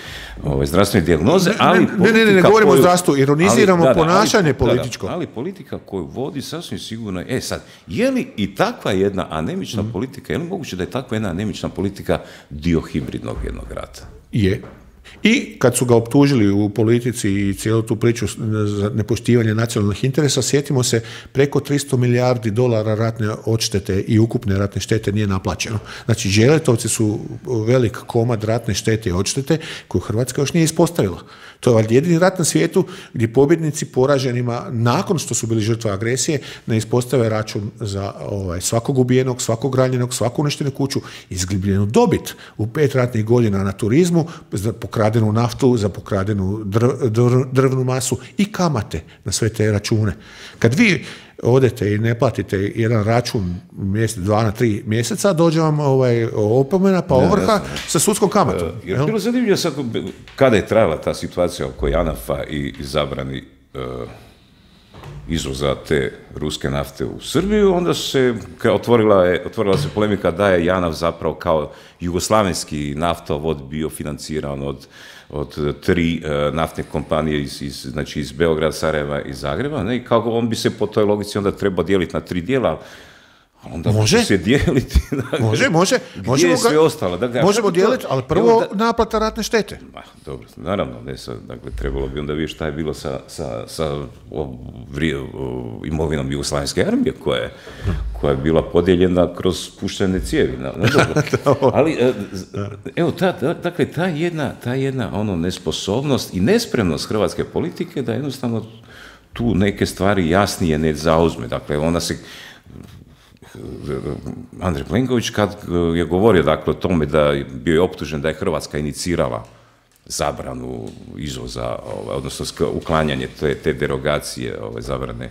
ove, zdravstvene dijagnoze, ali ne, ne, ne, ne govorimo koju, o zdravstvu, ironiziramo ali, da, ponašanje ali, političko. Da, da, ali politika koju vodi sasvim sigurno, e sad, je li i takva jedna anemična mm. politika, je li moguće da je takva jedna anemična politika dio hibridnog jednog rata? Je. I kad su ga optužili u politici i cijelu tu priču za nepoštivanje nacionalnih interesa, sjetimo se, preko tristo milijardi dolara ratne odštete i ukupne ratne štete nije naplaćeno. Znači, Đeletovci su velik komad ratne štete i odštete koju Hrvatska još nije ispostavila. To je jedini rat na svijetu gdje pobjednici poraženima, nakon što su bili žrtve agresije, ne ispostave račun za ovaj, svakog ubijenog, svakog ranjenog, svaku uništenu kuću, izgubljenu dobit u pet ratnih godina na turizmu, za pokradenu naftu, za pokradenu drv, drv, drvnu masu i kamate na sve te račune. Kad vi odete i ne platite jedan račun mjesec, dva na tri mjeseca, dođe vam ovaj, opomena pa ovrha ja, sa sudskom kamatom. Uh, jer bilo zanimljivo sad, kada je trajala ta situacija oko JANAF-a i, i zabrani uh, izvoza te ruske nafte u Srbiju, onda se otvorila, je, otvorila se polemika da je JANAF zapravo kao jugoslavenski naftovod bio financiran od od tri uh, naftne kompanije iz, iz, znači iz Beograda, Sarajeva i Zagreba, ne? I kako on bi se po toj logici onda trebao dijeliti na tri dijela, onda može se dijeliti. Dakle, može, može. Gdje je sve ostalo? Dakle, možemo dijeliti, ali prvo da, naplata ratne štete. Ma, dobro, naravno, ne, sad, dakle, trebalo bi onda vidjeti šta je bilo sa, sa, sa o, vri, o, imovinom Jugoslavenske armije, koja je, koja je bila podijeljena kroz puštene cijevi. Na, na dobro. Ali, evo, ta, ta, dakle, ta jedna, ta jedna ono, nesposobnost i nespremnost hrvatske politike da jednostavno tu neke stvari jasnije ne zauzme. Dakle, ona se... Andrej Plenković kad je govorio dakle o tome da je bio optužen da je Hrvatska inicirala zabranu izvoza, ovaj, odnosno uklanjanje te, te derogacije ovaj, zabrane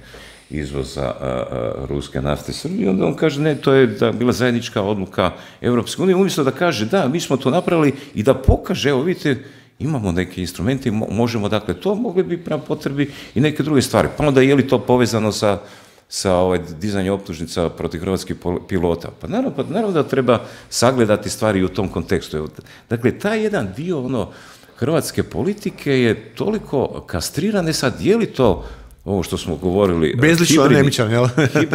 izvoza a, a, ruske nafte Srbije, onda on kaže ne, to je da bila zajednička odluka Europske unije, umjesto da kaže da, mi smo to napravili i da pokaže, evo vidite, imamo neke instrumente, možemo dakle to, mogli bi prema potrebi i neke druge stvari. Pa onda je li to povezano sa sa ovaj, dizanjem optužnica protiv hrvatskih pilota. Pa naravno, pa naravno da treba sagledati stvari u tom kontekstu. Dakle, taj jedan dio ono, hrvatske politike je toliko kastriran, sad je li to ovo što smo govorili... Bezlično anemičan, jel?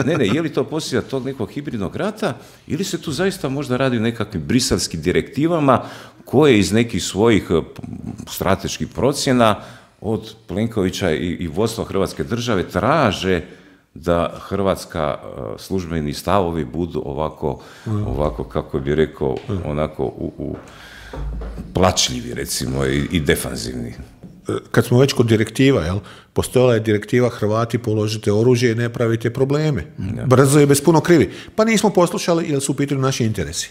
ne, ne, je li to posljedica tog nekog hibridnog rata ili se tu zaista možda radi o nekakvim briselskim direktivama koje iz nekih svojih strateških procjena od Plenkovića i, i vodstva Hrvatske države traže da hrvatska službeni stavovi budu ovako, ovako kako bi rekao, onako u, u plačljivi, recimo, i, i defanzivni. Kad smo već kod direktiva, jel, postojala je direktiva Hrvati položite oružje i ne pravite probleme. Ja. Brzo je bez puno krivi. Pa nismo poslušali jer su u pitanju naši interesi.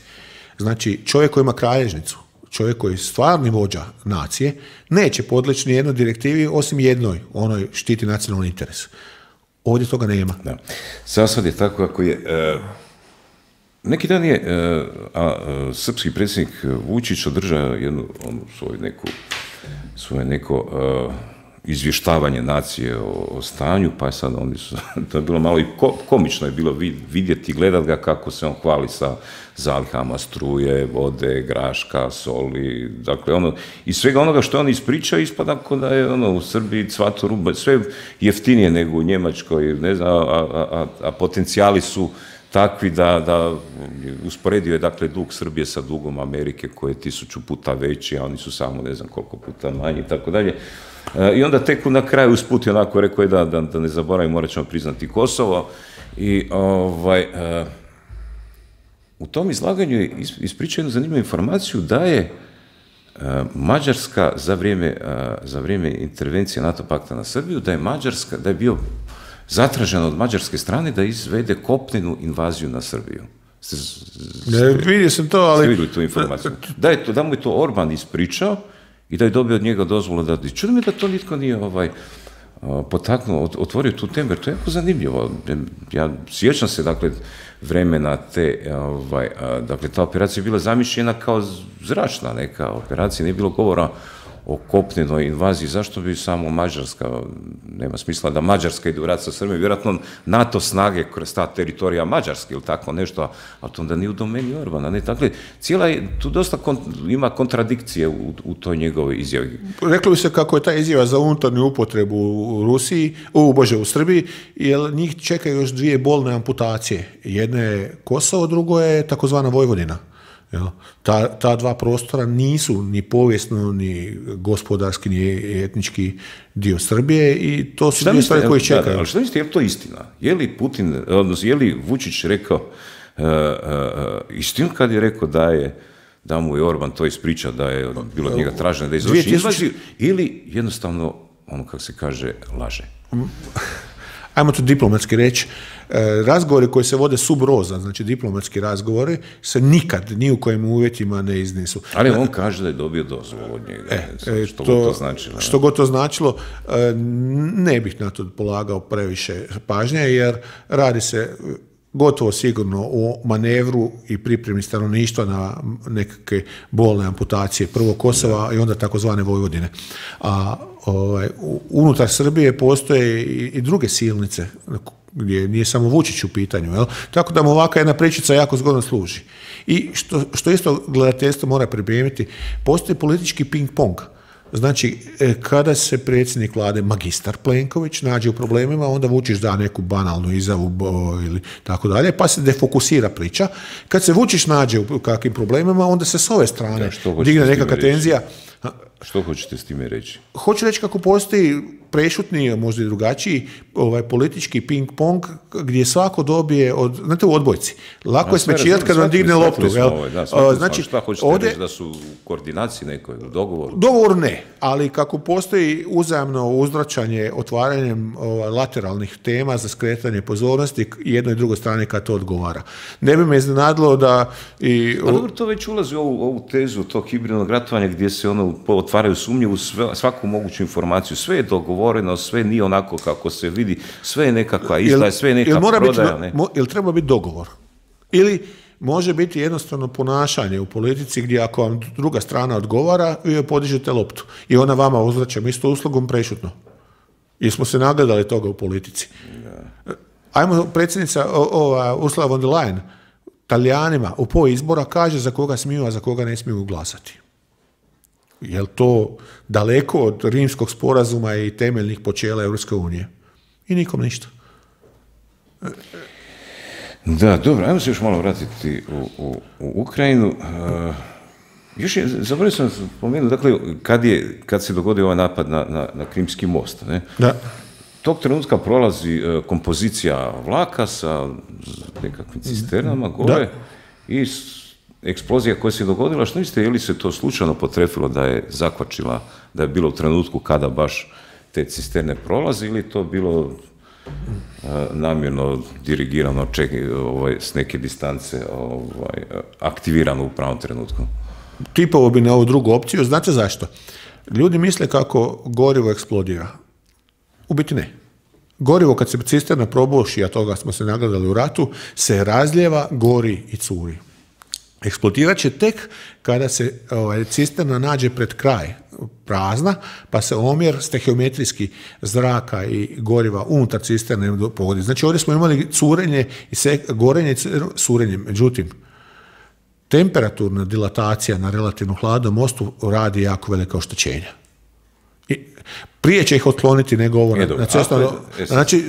Znači, čovjek koji ima kralježnicu, čovjek koji je stvarni vođa nacije, neće podleći ni jednoj direktivi osim jednoj, onoj štiti nacionalni interes. Ovdje toga nema. Da. Sad je tako ako je... Uh, neki dan je uh, a, uh, srpski predsjednik Vučić održao jednu onu svoju neku svoje neko uh, izvještavanje nacije o, o stanju, pa je sad oni su, to je bilo malo i ko, komično je bilo vidjeti i gledati ga kako se on hvali sa zalihama struje, vode, graška, soli, dakle ono, i svega onoga što on ispričao ispada kao da je ono u Srbiji cvato ruba, sve jeftinije nego u Njemačkoj, ne znam, a, a, a, a potencijali su takvi da, da usporedio je dakle dug Srbije sa dugom Amerike koji je tisuću puta veći, a oni su samo ne znam koliko puta manji i tako dalje. I onda tek na kraju usput je onako rekao je da, da, da ne zaboravim, morat ćemo priznati Kosovo. I ovaj, uh, u tom izlaganju je ispričao jednu zanimljivu informaciju da je uh, Mađarska za vrijeme, uh, za vrijeme intervencije NATO pakta na Srbiju, da je Mađarska, da je bio zatraženo od mađarske strane da izvede kopnenu invaziju na Srbiju. Ste, ne, vidio sam to, ali... Ste vidjeli tu informaciju? Da, je to, da mu je to Orban ispričao i da je dobio od njega dozvolu da... Čudim je da to nitko nije ovaj, potaknuo, otvorio tu temu, jer to je jako zanimljivo. Ja sjećam se, dakle, vremena te, ovaj, dakle, ta operacija je bila zamišljena kao zračna neka operacija, nije bilo govora o kopnenoj invaziji, zašto bi samo Mađarska, nema smisla da Mađarska ide u rat sa Srbijom, vjerojatno NATO snage kroz ta teritorija Mađarske ili tako nešto, ali to onda nije u domeni Orbana. Ne? Dakle, cijela je, tu dosta kont, ima kontradikcije u, u toj njegovoj izjavi. Reklo bi se kako je ta izjava za unutarnju upotrebu u Rusiji, u Bože, u Srbiji, jer njih čekaju još dvije bolne amputacije. Jedna je Kosovo, drugo je takozvana Vojvodina. Ta, ta dva prostora nisu ni povijesno, ni gospodarski, ni etnički dio Srbije i to su dvije stvari koje čekaju. Da, ali što mislite, je li to istina? Je li Putin, odnosno, je li Vučić rekao uh, uh, istinu kad je rekao da je da mu je Orban to ispričao, da je bilo od njega traženo da izvrši invaziju, ili jednostavno, ono kako se kaže, laže? Ajmo to diplomatski reći, razgovori koji se vode sub roza, znači diplomatski razgovori, se nikad, ni u kojim uvjetima ne iznesu. Ali on kaže da je dobio dozvolu od njega, e, što to, god to značilo. Što god to značilo, ne bih na to polagao previše pažnje, jer radi se gotovo sigurno o manevru i pripremi stanovništva na nekakve bolne amputacije prvo Kosova da. I onda takozvane Vojvodine. A ovaj, unutar Srbije postoje i, i druge silnice gdje nije samo Vučić u pitanju. Jel? Tako da mu ovakva jedna pričica jako zgodno služi. I što, što isto gledateljstvo mora pripremiti, postoji politički ping-pong. Znači, kada se predsjednik vlade magistar Plenković nađe u problemima, onda Vučić da neku banalnu izjavu ili tako dalje, pa se defokusira priča. Kad se Vučić nađe u kakvim problemima, onda se s ove strane ja, digne nekakva tenzija. Što hoćete s time reći? Hoću reći kako postoji prešutni, možda i drugačiji, ovaj, politički ping-pong gdje svako dobije, od, znate u odbojci, lako je smečirati kad vam digne loptu. Ovaj, da, znači, šta hoćete ovdje, reći, da su u koordinaciji nekoj, u dogovoru? Dogovor ne, ali kako postoji uzajamno uzvraćanje otvaranjem ovaj, lateralnih tema za skretanje pozornosti jednoj i drugoj strani kad to odgovara. Ne bi me iznenadilo da... I, pa dobro, to već ulazi u ovu, ovu tezu tog hibridnog ratovanja gdje se ono otvaraju sumnje u sve, svaku moguću informaciju. Sve je dogovoreno, sve nije onako kako se vidi, sve je nekakva izdaja, sve je neka prodaja. Ne? Ili treba biti dogovor? Ili može biti jednostavno ponašanje u politici gdje ako vam druga strana odgovara, vi joj podižete loptu i ona vama uzvraća isto uslugom prešutno. Jer smo se nagledali toga u politici. Ja. Ajmo, predsjednica ova, Ursula von der Leyen Talijanima u po izbora kaže za koga smiju, a za koga ne smiju glasati. Je li to daleko od rimskog sporazuma i temeljnih počela Europske unije? I nikom ništa. Da, dobro, ajmo se još malo vratiti u, u, u Ukrajinu. Uh, još je, zaboravio sam spomenuti, dakle, kad, je, kad se dogodio ovaj napad na, na, na Krimski most, ne? Da. Tog trenutka prolazi uh, kompozicija vlaka sa nekakvim cisternama gore da. I eksplozija koja se dogodila, što mislite, je li se to slučajno potrefilo da je zakvačila, da je bilo u trenutku kada baš te cisterne prolazi ili to bilo namjerno dirigirano ček, ovaj, s neke distance ovaj, aktivirano u pravom trenutku? Tipovo bi na ovu drugu opciju. Znate zašto? Ljudi misle kako gorivo eksplodira. U biti ne. Gorivo kad se cisterna probuši, a toga smo se nagledali u ratu, se razljeva, gori i curi. Eksplodirat će tek kada se ovaj, cisterna nađe pred kraj prazna, pa se omjer stehiometrijski zraka i goriva unutar cisterne pogodi. Znači ovdje smo imali curenje i se, gorenje i curenje. Međutim, temperaturna dilatacija na relativno hladnom mostu radi jako velika oštećenja. I prije će ih otkloniti nego ovo e, na cestnom. Znači,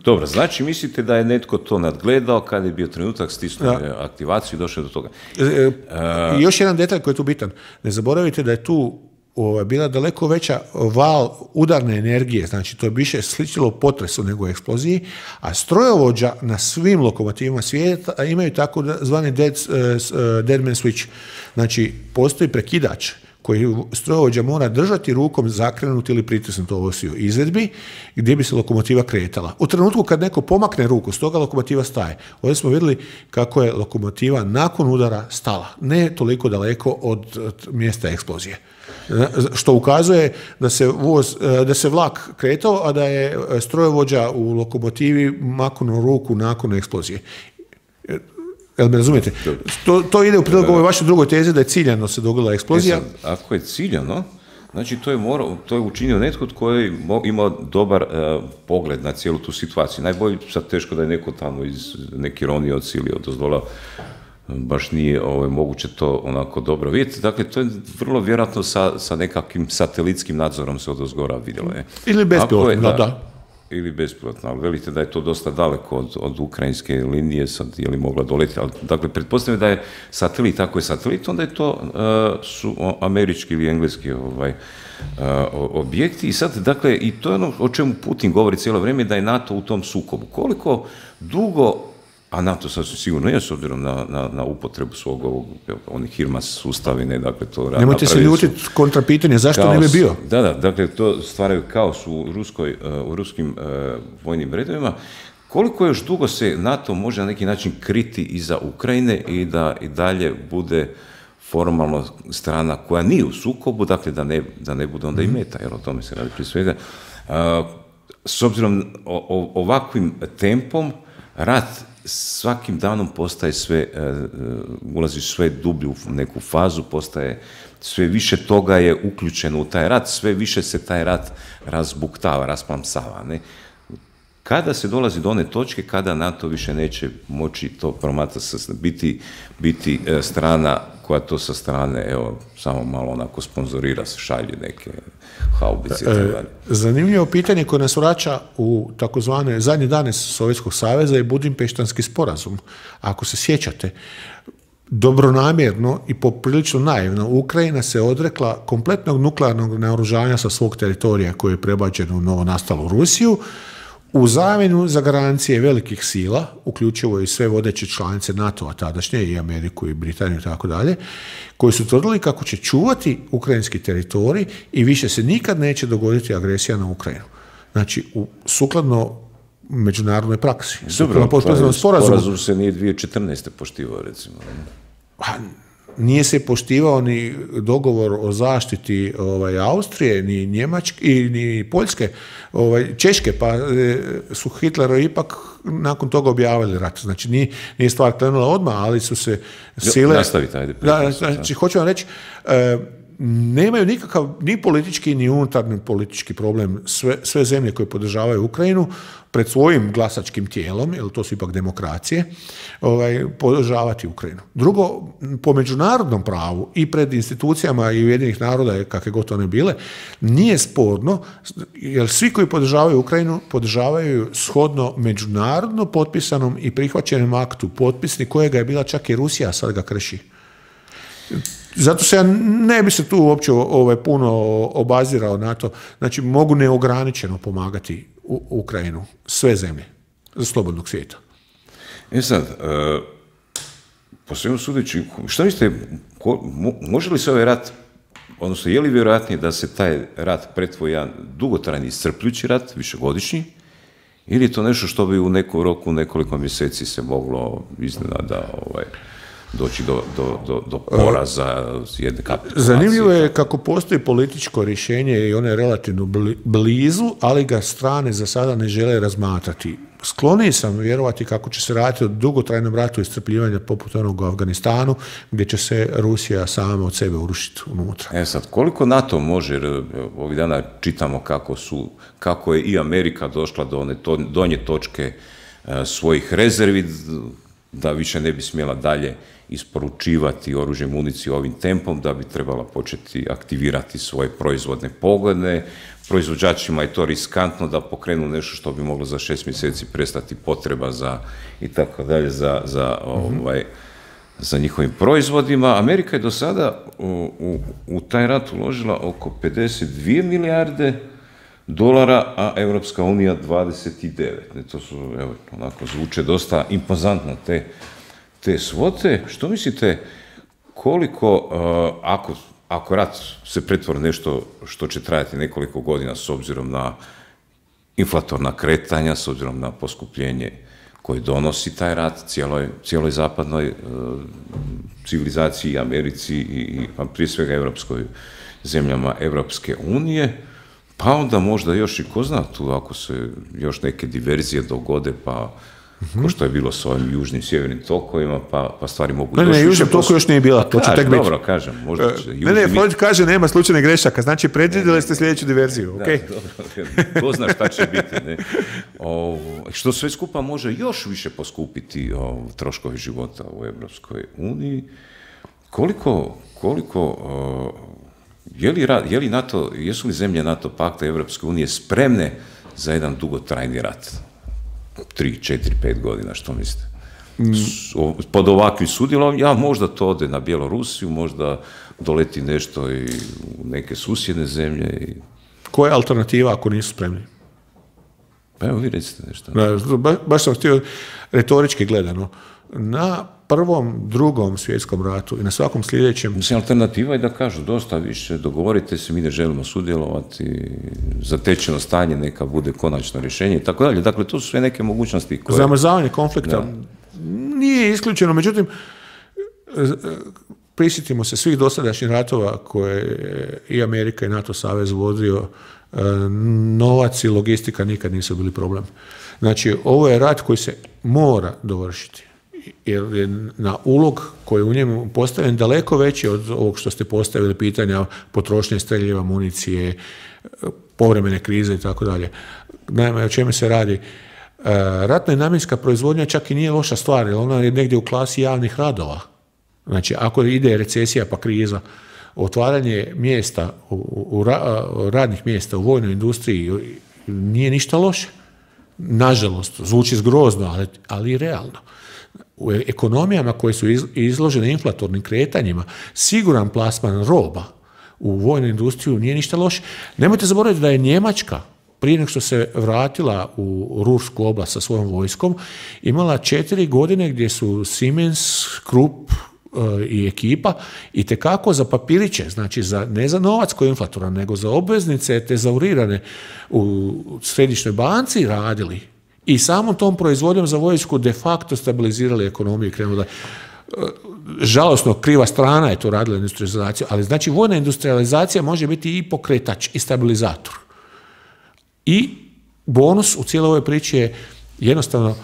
dobro, znači mislite da je netko to nadgledao kada je bio trenutak stisnuo aktivaciju i došao do toga. E, e, uh, još jedan detalj koji je tu bitan. Ne zaboravite da je tu o, bila daleko veća val udarne energije, znači to je više sličilo potresu nego eksploziji, a strojovođa na svim lokomotivima svijeta imaju tako zvani dead, uh, dead man switch. Znači, postoji prekidač koji strojovođa mora držati rukom zakrenuti ili pritisnuti ovosiju izvedbi gdje bi se lokomotiva kretala. U trenutku kad neko pomakne ruku, stoga lokomotiva staje. Ovdje smo vidjeli kako je lokomotiva nakon udara stala, ne toliko daleko od, od mjesta eksplozije. Što ukazuje da se, voz, da se vlak kretao, a da je strojovođa u lokomotivi maknuo ruku nakon eksplozije. Jel me razumijete? To, to ide u prilog ovoj vašoj drugoj tezi da je ciljano se dogodila eksplozija. E sad, ako je ciljano, znači to je, morao, to je učinio netko tko je imao dobar uh, pogled na cijelu tu situaciju. Najbolje, sad teško da je neko tamo iz neke ironije od Silije od ozdola, baš nije ovaj, moguće to onako dobro vidjeti. Dakle, to je vrlo vjerojatno sa, sa nekakvim satelitskim nadzorom se od ozgora vidjelo. Je. Ili bespilotno, da. da. Ili bespilotno, ali velite da je to dosta daleko od, od ukrajinske linije, sad je li mogla doletiti, ali dakle, pretpostavljam da je satelit, ako je satelit, onda je to uh, su američki ili engleski ovaj, uh, objekti i sad, dakle, i to je ono o čemu Putin govori cijelo vrijeme, da je NATO u tom sukobu. Koliko dugo, a NATO sasvim sigurno je s obzirom na, na, na upotrebu svog ovog, onih HIMARS sustavine, dakle to... Nemojte se ljutiti kontra pitanje, zašto kaos, ne bi bio? Da, da, dakle to stvaraju kaos u, ruskoj, u ruskim uh, vojnim redovima. Koliko još dugo se NATO može na neki način kriti iza Ukrajine i da i dalje bude formalno strana koja nije u sukobu, dakle da ne, da ne bude onda mm. i meta, jer o tome se radi prije svega. Uh, s obzirom o, o, ovakvim tempom, rat svakim danom postaje sve, uh, ulazi sve dublju u neku fazu, postaje sve više toga je uključeno u taj rat, sve više se taj rat razbuktava, rasplamsava. Ne? Kada se dolazi do one točke kada NATO više neće moći to promatrati, biti, biti uh, strana koja to sa strane, evo, samo malo onako sponzorira, se šalje neke haubice. E, zanimljivo pitanje koje nas vraća u takozvane zadnje dane Sovjetskog saveza je Budimpeštanski sporazum. Ako se sjećate, dobronamjerno i poprilično naivno, Ukrajina se odrekla kompletnog nuklearnog naoružanja sa svog teritorija koje je prebačeno u novo nastalu Rusiju, u zamjenu za garancije velikih sila, uključivo i sve vodeće članice NATO-a tadašnje, i Ameriku i Britaniju i tako dalje, koji su tvrdili kako će čuvati ukrajinski teritorij i više se nikad neće dogoditi agresija na Ukrajinu. Znači, u, sukladno međunarodnoj praksi. Dobro, pa sporazum se nije dvije tisuće četrnaeste poštivao, recimo. Pa, nije se poštivao ni dogovor o zaštiti ovaj, Austrije, ni Njemačke, ni Poljske, ovaj, Češke, pa e, su Hitlerovi ipak nakon toga objavili rat. Znači, nije, nije stvar krenula odmah, ali su se sile... Nastavite, ajde. Da, znači, hoću vam reći, e, nemaju nikakav ni politički ni unutarnji politički problem. Sve, sve zemlje koje podržavaju Ukrajinu pred svojim glasačkim tijelom, jer to su ipak demokracije, ovaj, podržavati Ukrajinu. Drugo, po međunarodnom pravu i pred institucijama i Ujedinjenih naroda, kakve god one bile, nije sporno, jer svi koji podržavaju Ukrajinu podržavaju shodno međunarodno potpisanom i prihvaćenom aktu potpisni kojega je bila čak i Rusija, a sad ga krši. Zato se ja ne bi se tu uopće ovaj, puno obazirao na to. Znači, mogu neograničeno pomagati u Ukrajinu, sve zemlje, za slobodnog svijeta. E sad, uh, po svemu sudeći, što mislite, ko, može li se ovaj rat, odnosno je li vjerojatnije da se taj rat pretvori jedan dugotrajni iscrpljujući rat, višegodišnji, ili je to nešto što bi u nekom roku, nekoliko mjeseci se moglo iznenada ovaj, doći do, do, do, do poraza jedne kapitulacije? Zanimljivo je kako postoji političko rješenje i ono je relativno blizu, ali ga strane za sada ne žele razmatrati. Skloniji sam vjerovati kako će se raditi o dugotrajnom ratu iscrpljivanja poput onog u Afganistanu, gdje će se Rusija sama od sebe urušiti unutra. E sad, koliko NATO može, jer ovih dana čitamo kako, su, kako je i Amerika došla do one to, donje točke e, svojih rezervi, da više ne bi smjela dalje isporučivati oružje, municiju ovim tempom, da bi trebala početi aktivirati svoje proizvodne pogone. Proizvođačima je to riskantno da pokrenu nešto što bi moglo za šest mjeseci prestati potreba za i tako dalje za, za, mm-hmm. ovaj, za njihovim proizvodima. Amerika je do sada u, u, u taj rat uložila oko pedeset dvije milijarde dolara, a Europska unija dvadeset devet. Ne, to su, evo, onako zvuče dosta impozantno te, te svote. Što mislite, koliko, uh, ako, ako rat se pretvori nešto što će trajati nekoliko godina s obzirom na inflatorna kretanja, s obzirom na poskupljenje koje donosi taj rat cijeloj, cijeloj zapadnoj uh, civilizaciji, Americi i, i prije svega evropskoj zemljama Evropske unije, pa onda možda još i ko zna tu, ako se još neke diverzije dogode, pa mm-hmm. ko što je bilo s ovim južnim, sjevernim tokovima, pa, pa stvari mogu... Ne, ne, južnim toku još nije bila, to će tek biti. Dobro, kažem, možda će... Ne, ne, Freud kaže nema slučajnih grešaka, znači predvidjeli ste sljedeću diverziju, da, okej? Okay? Dobro, ko zna šta će biti, ne? O, što sve skupa može još više poskupiti o, troškovi života u Evropskoj uniji. Koliko, koliko... O, Je li, je li NATO, jesu li zemlje NATO pakta i Evropske unije spremne za jedan dugotrajni rat? Tri, četiri, pet godina, što mislite? Mm. Pod ovakvim sudjelom, ja možda to ode na Bjelorusiju, možda doleti nešto i u neke susjedne zemlje. I... Koja je alternativa ako nisu spremni? Pa evo, vi recite nešto. Da, ba, baš sam htio retorički gledano. Na prvom, drugom svjetskom ratu i na svakom sljedećem... Mislim, alternativa je da kažu dosta više, dogovorite se, mi ne želimo sudjelovati, zatečeno stanje neka bude konačno rješenje i tako dalje. Dakle, to su sve neke mogućnosti koje... Zamrzavanje konflikta da. Nije isključeno, međutim, prisjetimo se svih dosadašnjih ratova koje je i Amerika i NATO savez vodio, novac i logistika nikad nisu bili problem. Znači, ovo je rat koji se mora dovršiti. Jer je na ulog koji je u njemu postavljen daleko veći od ovog što ste postavili pitanja potrošnje streljiva, municije, povremene krize i tako dalje. Naime, o čemu se radi? Ratna i namjenska proizvodnja čak i nije loša stvar, jer ona je negdje u klasi javnih radova. Znači, ako ide recesija pa kriza, otvaranje mjesta, u, u, u radnih mjesta u vojnoj industriji nije ništa loše. Nažalost, zvuči zgrozno, ali, ali i realno. U ekonomijama koje su izložene inflatornim kretanjima, siguran plasman roba u vojnu industriju nije ništa loše. Nemojte zaboraviti da je Njemačka, prije nego što se vratila u Rursku oblast sa svojom vojskom, imala četiri godine gdje su Siemens, Krupp i ekipa i tekako za papiriće, znači za, ne za novac koji je inflatoran, nego za obveznice tezaurirane u središnjoj banci radili. I samom tom proizvodnjom za vojsku de facto stabilizirali ekonomiju i krenuli da... Žalosno, kriva strana je to radila industrializaciju, ali znači vojna industrializacija može biti i pokretač i stabilizator. I bonus u cijeloj ovoj priči je jednostavno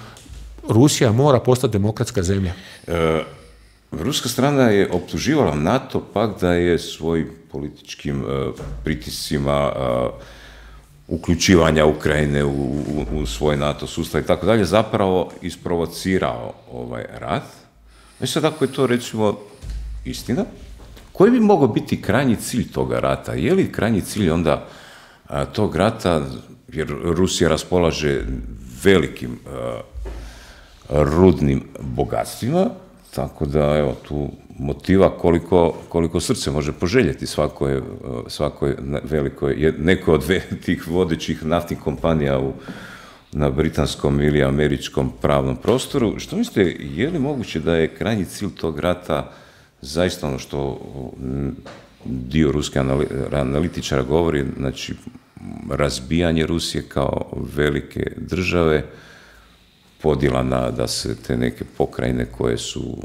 Rusija mora postati demokratska zemlja. E, ruska strana je optuživala NATO pak da je svojim političkim uh, pritiscima uh, uključivanja Ukrajine u, u, u svoj NATO sustav i tako dalje, zapravo isprovocirao ovaj rat. Znači sad ako je to recimo istina, koji bi mogao biti krajnji cilj toga rata? Je li krajnji cilj onda a, tog rata, jer Rusija raspolaže velikim a, rudnim bogatstvima, tako da evo tu motiva koliko, koliko srce može poželjeti svakoj, svakoj velikoj, nekoj od tih vodećih naftnih kompanija u, na britanskom ili američkom pravnom prostoru. Što mislite, je li moguće da je krajnji cilj tog rata zaista ono što dio ruske analitičara govori, znači razbijanje Rusije kao velike države, podjela na da se te neke pokrajine koje su,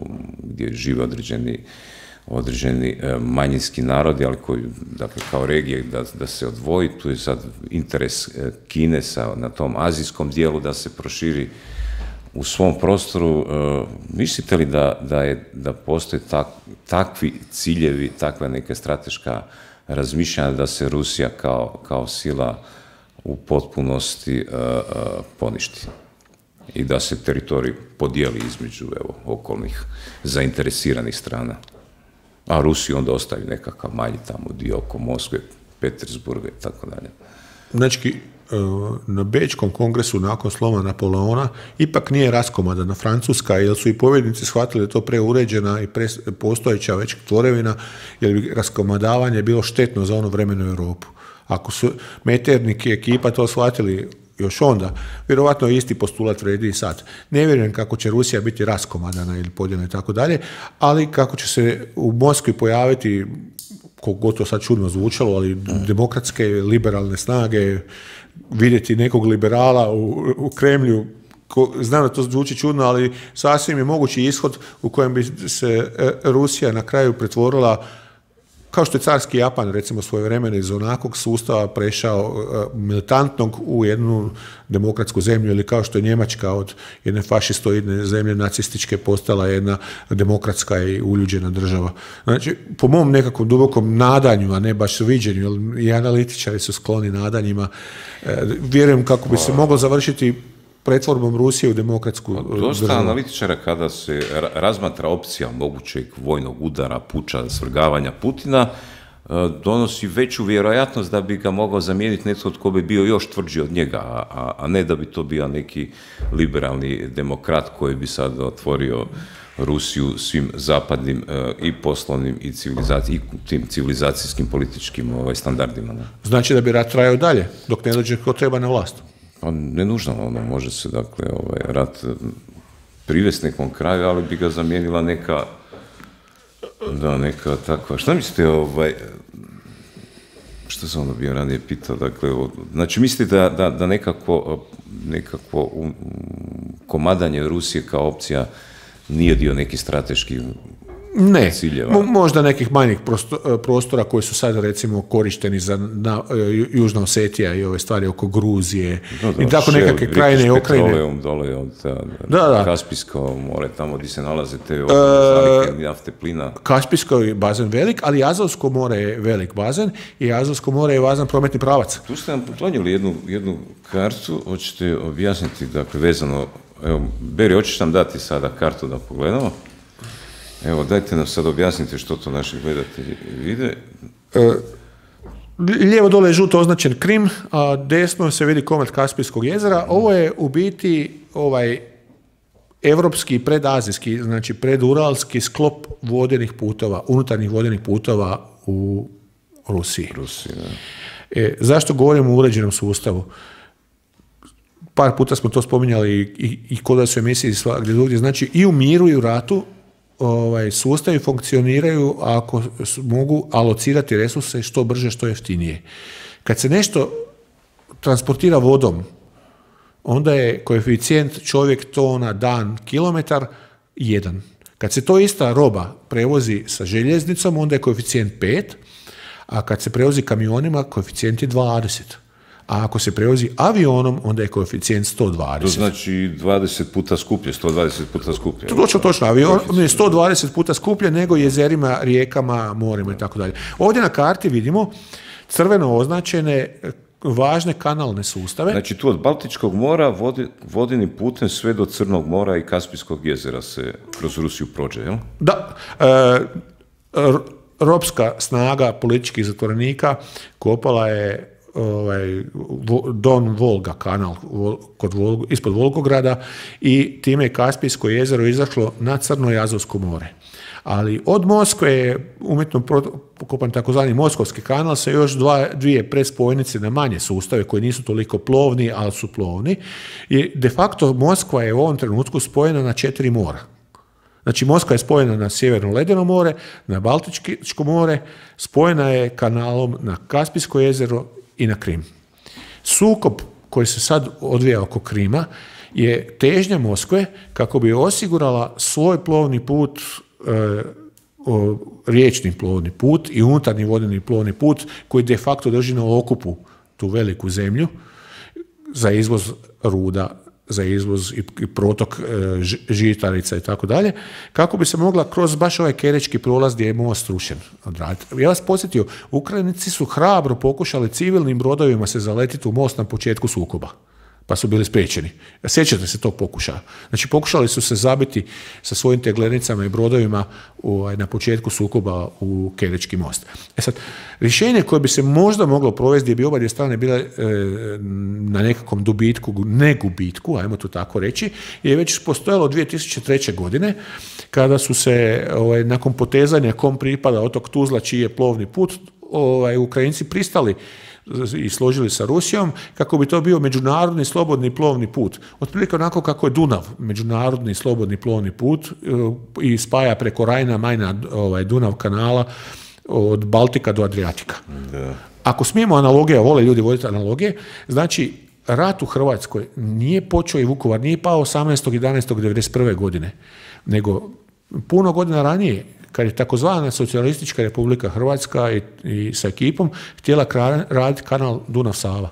gdje žive određeni, određeni manjinski narodi, ali koji, dakle, kao regije da, da se odvoji, tu je sad interes Kine sa, na tom azijskom dijelu da se proširi u svom prostoru. Mislite li da, da, je, da postoje tak, takvi ciljevi, takva neka strateška razmišljanja da se Rusija kao, kao sila u potpunosti uh, uh, poništi i da se teritorij podijeli između evo, okolnih zainteresiranih strana, a Rusiju onda ostavi nekakav manji tamo dio oko Moskve, Petersburga i tako dalje. Znači, na Bečkom kongresu nakon sloma Napoleona ipak nije raskomadana Francuska, jer su i pobjednici shvatili da je to preuređena i pre, postojeća već tvorevina, jer bi raskomadavanje bilo štetno za ono vremenu Europu. Ako su Metternich i ekipa to shvatili još onda, vjerovatno isti postulat vredi i sad. Ne vjerujem kako će Rusija biti raskomadana ili podijeljena i tako dalje, ali kako će se u Moskvi pojaviti, koliko god to sad čudno zvučalo, ali demokratske, liberalne snage, vidjeti nekog liberala u, u Kremlju, ko, znam da to zvuči čudno, ali sasvim je mogući ishod u kojem bi se Rusija na kraju pretvorila, kao što je carski Japan, recimo, svojevremeno iz onakvog sustava prešao uh, militantnog u jednu demokratsku zemlju, ili kao što je Njemačka od jedne fašistoidne zemlje nacističke postala jedna demokratska i uljuđena država. Znači, po mom nekakvom dubokom nadanju, a ne baš viđenju, jer i analitičari su skloni nadanjima, uh, vjerujem kako bi se moglo završiti pretvorbom Rusije u demokratsku državu. Dosta analitičara kada se razmatra opcija mogućeg vojnog udara, puča, svrgavanja Putina, donosi veću vjerojatnost da bi ga mogao zamijeniti netko tko bi bio još tvrđi od njega, a, a ne da bi to bio neki liberalni demokrat koji bi sad otvorio Rusiju svim zapadnim i poslovnim i, i tim civilizacijskim političkim ovaj, standardima. Ne? Znači da bi rat trajao dalje, dok ne dođe ko treba na vlast. Pa ne nužno, ono, može se, dakle, ovaj, rat privesti nekom kraju, ali bi ga zamijenila neka, da, neka takva, šta mislite, ovaj, što sam ono bio ranije pitao, dakle, o, znači mislite da, da, da nekako, nekako um, komadanje Rusije kao opcija nije dio nekih strateških Ne, ciljeva. Mo- možda nekih manjih prostora koji su sad recimo korišteni za na, Južna Osetija i ove stvari oko Gruzije No, da, i tako šel, nekakve krajine i Ukrajine. Dole od da, da. Kaspijsko more, tamo gdje se nalaze te zalihe nafte, plina. Kaspijsko je bazen velik, ali Azovsko more je velik bazen i Azovsko more je važan prometni pravac. Tu ste nam poklonili jednu, jednu kartu, hoćete objasniti, dakle, vezano, evo, Beri, hoćeš nam dati sada kartu da pogledamo? Evo, dajte nam sad objasnite što to naši gledatelji vide. E, lijevo dole je žuto označen Krim, a desno se vidi komad Kaspijskog jezera. Ovo je u biti ovaj evropski, predazijski, znači preduralski sklop vodenih putova, unutarnjih vodenih putova u Rusiji. Rusiji, da. E, zašto govorimo o uređenom sustavu? Par puta smo to spominjali i, i, i kod da su emisiji svakdje drugdje. Znači, i u miru i u ratu ovaj, sustavi funkcioniraju ako mogu alocirati resurse što brže, što jeftinije. Kad se nešto transportira vodom, onda je koeficijent čovjek, tona, dan, kilometar jedan. Kad se to ista roba prevozi sa željeznicom, onda je koeficijent pet, a kad se prevozi kamionima, koeficijent je dvadeset. a ako se prevozi avionom, onda je koeficijent sto dvadeset. To znači dvadeset puta skuplje, sto dvadeset puta skuplje. Točno, točno. Avion je sto dvadeset puta skuplje nego jezerima, rijekama, morima i tako dalje. Ovdje na karti vidimo crveno označene važne kanalne sustave. Znači tu od Baltičkog mora vodi, vodenim putem sve do Crnog mora i Kaspijskog jezera se kroz Rusiju prođe, jel? Da. E, ropska snaga političkih zatvorenika kopala je ovaj, Don Volga kanal kod Volgu, ispod Volgograda i time je Kaspijsko jezero izašlo na Crno i Azovsko more. Ali od Moskve je umjetno pokopan takozvani Moskovski kanal sa još dva, dvije prespojnice na manje sustave koji nisu toliko plovni, ali su plovni. I de facto Moskva je u ovom trenutku spojena na četiri mora. Znači Moskva je spojena na Sjeverno ledeno more, na Baltičko more, spojena je kanalom na Kaspijsko jezero i na Krim. Sukob koji se sad odvija oko Krima je težnja Moskve kako bi osigurala svoj plovni put, e, o, riječni plovni put i unutarnji vodeni plovni put koji de facto drži na okupu tu veliku zemlju za izvoz ruda, za izvoz i protok e, žitarica i tako dalje, kako bi se mogla kroz baš ovaj Kerečki prolaz gdje je most rušen odraditi. Ja vas podsjetio, Ukrajinci su hrabro pokušali civilnim brodovima se zaletiti u most na početku sukoba, pa su bili spriječeni. Sjećate se tog pokušaja. Znači, pokušali su se zabiti sa svojim teglenicama i brodovima u, na početku sukoba u Kerečki most. E sad, rješenje koje bi se možda moglo provesti gdje bi obadvije strane bile e, na nekakvom dobitku, ne gubitku, ajmo to tako reći, je već postojalo dvije tisuće treće. godine, kada su se ovaj, nakon potezanja kom pripada otok Tuzla, čiji je plovni put, ovaj, Ukrajinci pristali i složili sa Rusijom, kako bi to bio međunarodni slobodni plovni put. Otprilike onako kako je Dunav, međunarodni slobodni plovni put i spaja preko Rajna, Majna, ovaj, Dunav kanala od Baltika do Adriatika. Da. Ako smijemo analogije, vole ljudi voditi analogije, znači rat u Hrvatskoj nije počeo i Vukovar nije pao osamnaestog jedanaestog devedeset prve. godine, nego puno godina ranije, kad je takozvana socijalistička Republika Hrvatska i, i sa ekipom htjela raditi kanal Dunav-Sava.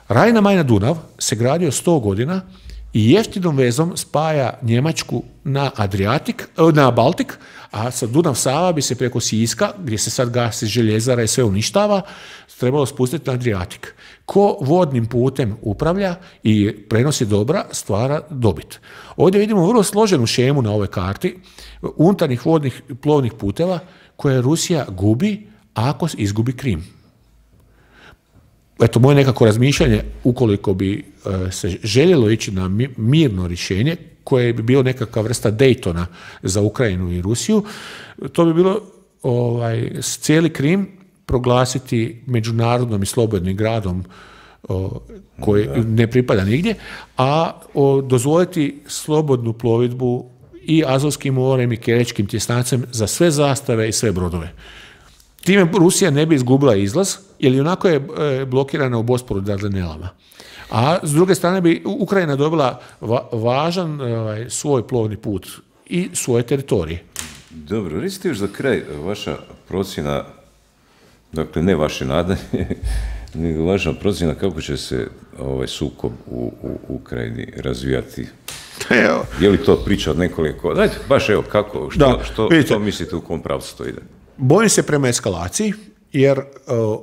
Rajna Majna Dunav se gradio sto godina i jeftinom vezom spaja Njemačku na Adriatik, na Baltik, a sa Dunav-Sava bi se preko Siska, gdje se sad gasi željezara i sve uništava, trebalo spustiti na Adriatik. Ko vodnim putem upravlja i prenosi dobra, stvara dobit. Ovdje vidimo vrlo složenu šemu na ovoj karti unutarnjih vodnih plovnih puteva koje Rusija gubi ako izgubi Krim. Eto, moje nekako razmišljanje, ukoliko bi e, se željelo ići na mirno rješenje, koje bi bilo nekakva vrsta Daytona za Ukrajinu i Rusiju, to bi bilo ovaj, cijeli Krim proglasiti međunarodnom i slobodnim gradom o, koji da. ne pripada nigdje, a o, dozvoliti slobodnu plovidbu i Azovskim morem i Kerečkim tjesnacem za sve zastave i sve brodove. Time Rusija ne bi izgubila izlaz, jer onako je e, blokirana u Bosporu Dardanelama. A s druge strane bi Ukrajina dobila va, važan e, svoj plovni put i svoje teritorije. Dobro, recite još za kraj vaša procjena, dakle ne vaše nadanje, nego vaša procjena kako će se ovaj sukob u, u Ukrajini razvijati. Evo. Je li to priča od nekoliko? Dajte, baš evo, kako, što, da, što, vidite, što mislite u kom pravcu to ide? Bojim se prema eskalaciji, jer uh,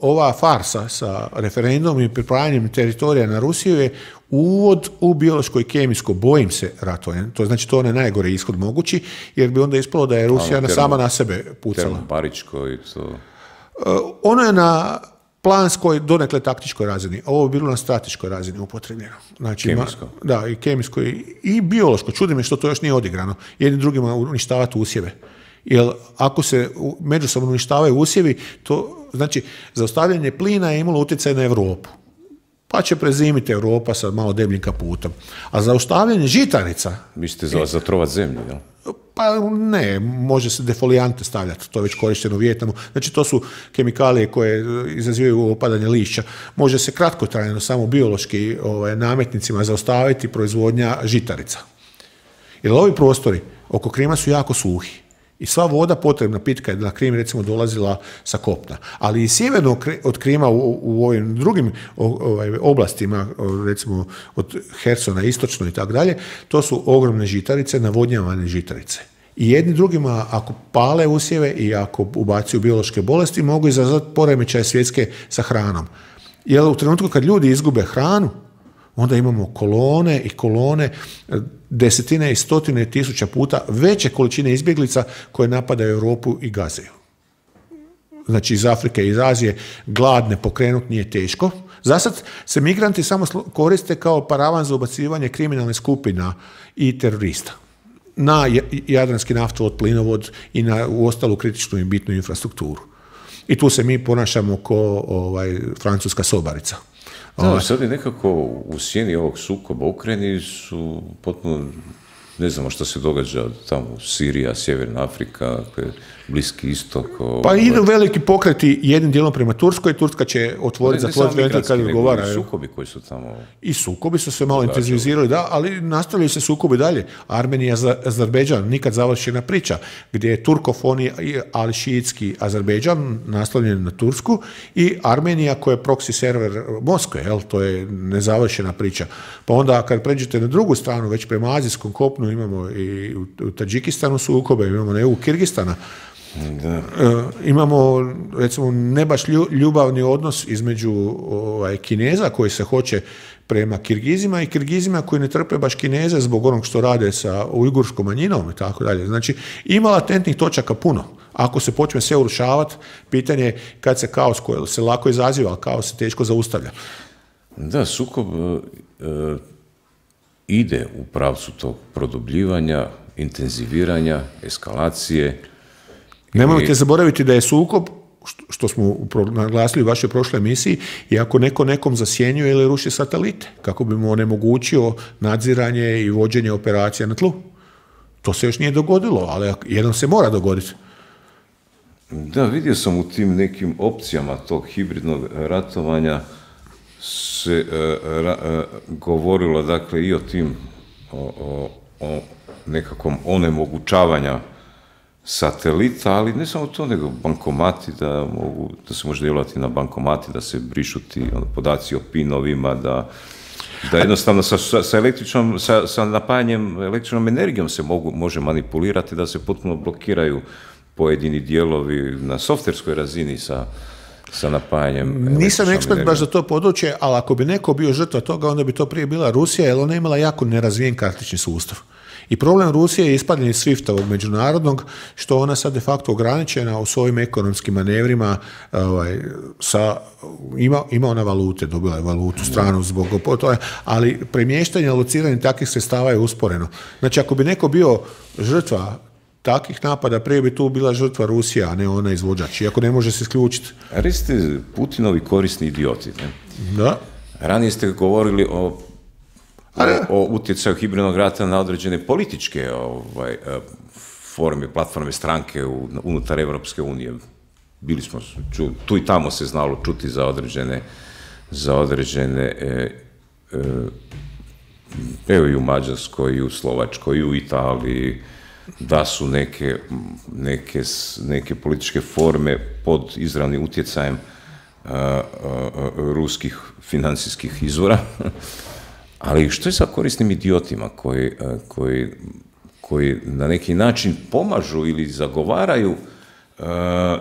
ova farsa sa referendumom i pripajanjem teritorija na Rusiju je uvod u biološko i kemijsko, bojim se, ratovanje. To znači to je najgore ishod mogući, jer bi onda ispalo da je Rusija termo, sama na sebe pucala. Termobaričko i to... Uh, ono je na planskoj, donekle taktičkoj razini. Ovo je bilo na strateškoj razini upotrebljeno. Znači, kemijsko. Ma, da, i kemijsko i, i biološko. Čudi me što to još nije odigrano. Jednim drugima uništavati usjeve. Jer ako se međusobno uništavaju usjevi, to znači zaustavljanje plina je imalo utjecaj na Europu. Pa će prezimiti Europa sa malo debljim kaputom. A zaustavljanje žitarica... Mislite za zatrovat zemlju, jel? Pa ne, može se defolijante stavljati, to je već korišteno u Vijetnamu. Znači to su kemikalije koje izazivaju opadanje lišća. Može se kratkotrajno samo biološki ovaj, nametnicima zaustaviti proizvodnja žitarica. Jer ovi prostori oko Krima su jako suhi. I sva voda potrebna, pitka je na Krim recimo dolazila sa kopna. Ali i sjeverno od Krima u, u ovim drugim ovaj, oblastima, recimo od Hersona istočno i tako dalje, to su ogromne žitarice, navodnjavane žitarice. I jedni drugima, ako pale usjeve i ako ubacuju biološke bolesti, mogu izazvati poremećaje svjetske sa hranom. Jer u trenutku kad ljudi izgube hranu, onda imamo kolone i kolone, desetine i stotine tisuća puta veće količine izbjeglica koje napadaju Europu i gazaju. Znači iz Afrike i iz Azije gladne pokrenut nije teško. Zasad se migranti samo koriste kao paravan za ubacivanje kriminalnih skupina i terorista na jadranski naftovod, plinovod i na u ostalu kritičnu i bitnu infrastrukturu. I tu se mi ponašamo ko ovaj, francuska sobarica. Da, sad je nekako u sjeni ovog sukoba u Ukrajini su potpuno, ne znamo što se događa tamo, Sirija, Sjeverna Afrika, Bliski istok. Pa idu veliki pokreti jednim dijelom prema Turskoj, Turska će otvoriti, zatvoriti ventil kad odgovara. I sukobi koji su tamo... I sukobi su se malo intenzivizirali, da, ali nastavljaju se sukobi dalje. Armenija, Azerbejdžan, nikad završena priča, gdje je turkofoni, ali šiitski Azerbejdžan, naslovljen na Tursku, i Armenija koja je proxy server Moskve, jel, to je nezavršena priča. Pa onda kad pređete na drugu stranu, već prema azijskom kopnu, imamo i u Tadžikistanu sukobe, imamo na jugu Kirgistana. Da. E, imamo, recimo, ne baš ljubavni odnos između ovaj, Kineza koji se hoće prema Kirgizima i Kirgizima koji ne trpe baš Kineze zbog onog što rade sa ujgurskom manjinom i tako dalje. Znači, ima latentnih točaka puno. Ako se počne sve urušavati, pitanje je kad se kaos koji se lako izaziva, ali kaos se teško zaustavlja. Da, sukob e, ide u pravcu tog produbljivanja, intenziviranja, eskalacije. Nemojte zaboraviti da je sukob, što smo naglasili u vašoj prošloj emisiji, i ako neko nekom zasjenjuje ili ruši satelite, kako bi mu onemogućio nadziranje i vođenje operacija na tlu. To se još nije dogodilo, ali jednom se mora dogoditi. Da, vidio sam u tim nekim opcijama tog hibridnog ratovanja se uh, ra, uh, govorilo, dakle, i o tim o, o, o nekakvom onemogućavanja satelita, ali ne samo to, nego bankomati, da mogu, da se može djelovati na bankomati, da se brišu ti podaci o pinovima, da, da jednostavno sa, sa, električnom, sa, sa napajanjem električnom energijom se mogu, može manipulirati, da se potpuno blokiraju pojedini dijelovi na softverskoj razini sa, sa napajanjem. Nisam ekspert baš za to područje, ali ako bi neko bio žrtva toga, onda bi to prije bila Rusija, jer ona je imala jako nerazvijen kartični sustav. I problem Rusije je ispadanje Swiftovog međunarodnog, što ona sad de facto ograničena u svojim ekonomskim manevrima, ovaj, sa, ima, ima ona valute, dobila je valutu stranu zbog toga, ali premještanje, alociranje takvih sredstava je usporeno. Znači, ako bi neko bio žrtva takvih napada, prije bi tu bila žrtva Rusija, a ne ona izvođač, iako ne može se isključiti. A vi ste Putinovi korisni idioti, ne? Da. Ranije ste govorili o O, o utjecaju hibridnog rata na određene političke ovaj, forme, platforme, stranke u, unutar Evropske unije. Bili smo, ču, tu i tamo se znalo čuti za određene, za određene e, e, evo i u Mađarskoj, i u Slovačkoj, i u Italiji, da su neke, neke, neke političke forme pod izravnim utjecajem a, a, a, ruskih financijskih izvora. Ali što je sa korisnim idiotima koji, koji, koji na neki način pomažu ili zagovaraju, uh,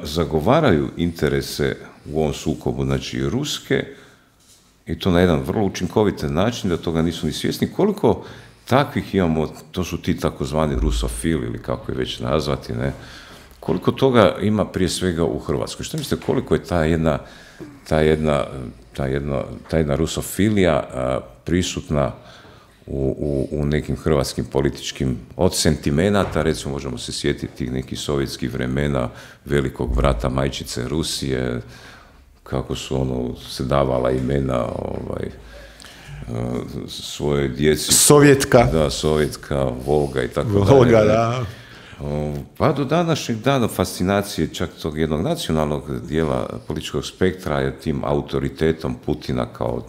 zagovaraju interese u ovom sukobu, znači ruske, i to na jedan vrlo učinkovit način, da toga nisu ni svjesni. Koliko takvih imamo, to su ti takozvani rusofili ili kako je već nazvati, ne? Koliko toga ima prije svega u Hrvatskoj? Što mislite, koliko je ta jedna, ta jedna, ta jedna, ta jedna rusofilija a, prisutna u, u, u nekim hrvatskim političkim, od sentimenata, recimo možemo se sjetiti tih nekih sovjetskih vremena, velikog brata majčice Rusije, kako su ono se davala imena ovaj, svoje djeci. Sovjetka. Da, Sovjetka, Volga i tako dalje. Volga, da. Pa do današnjeg dana fascinacije čak tog jednog nacionalnog dijela političkog spektra je tim autoritetom Putina kao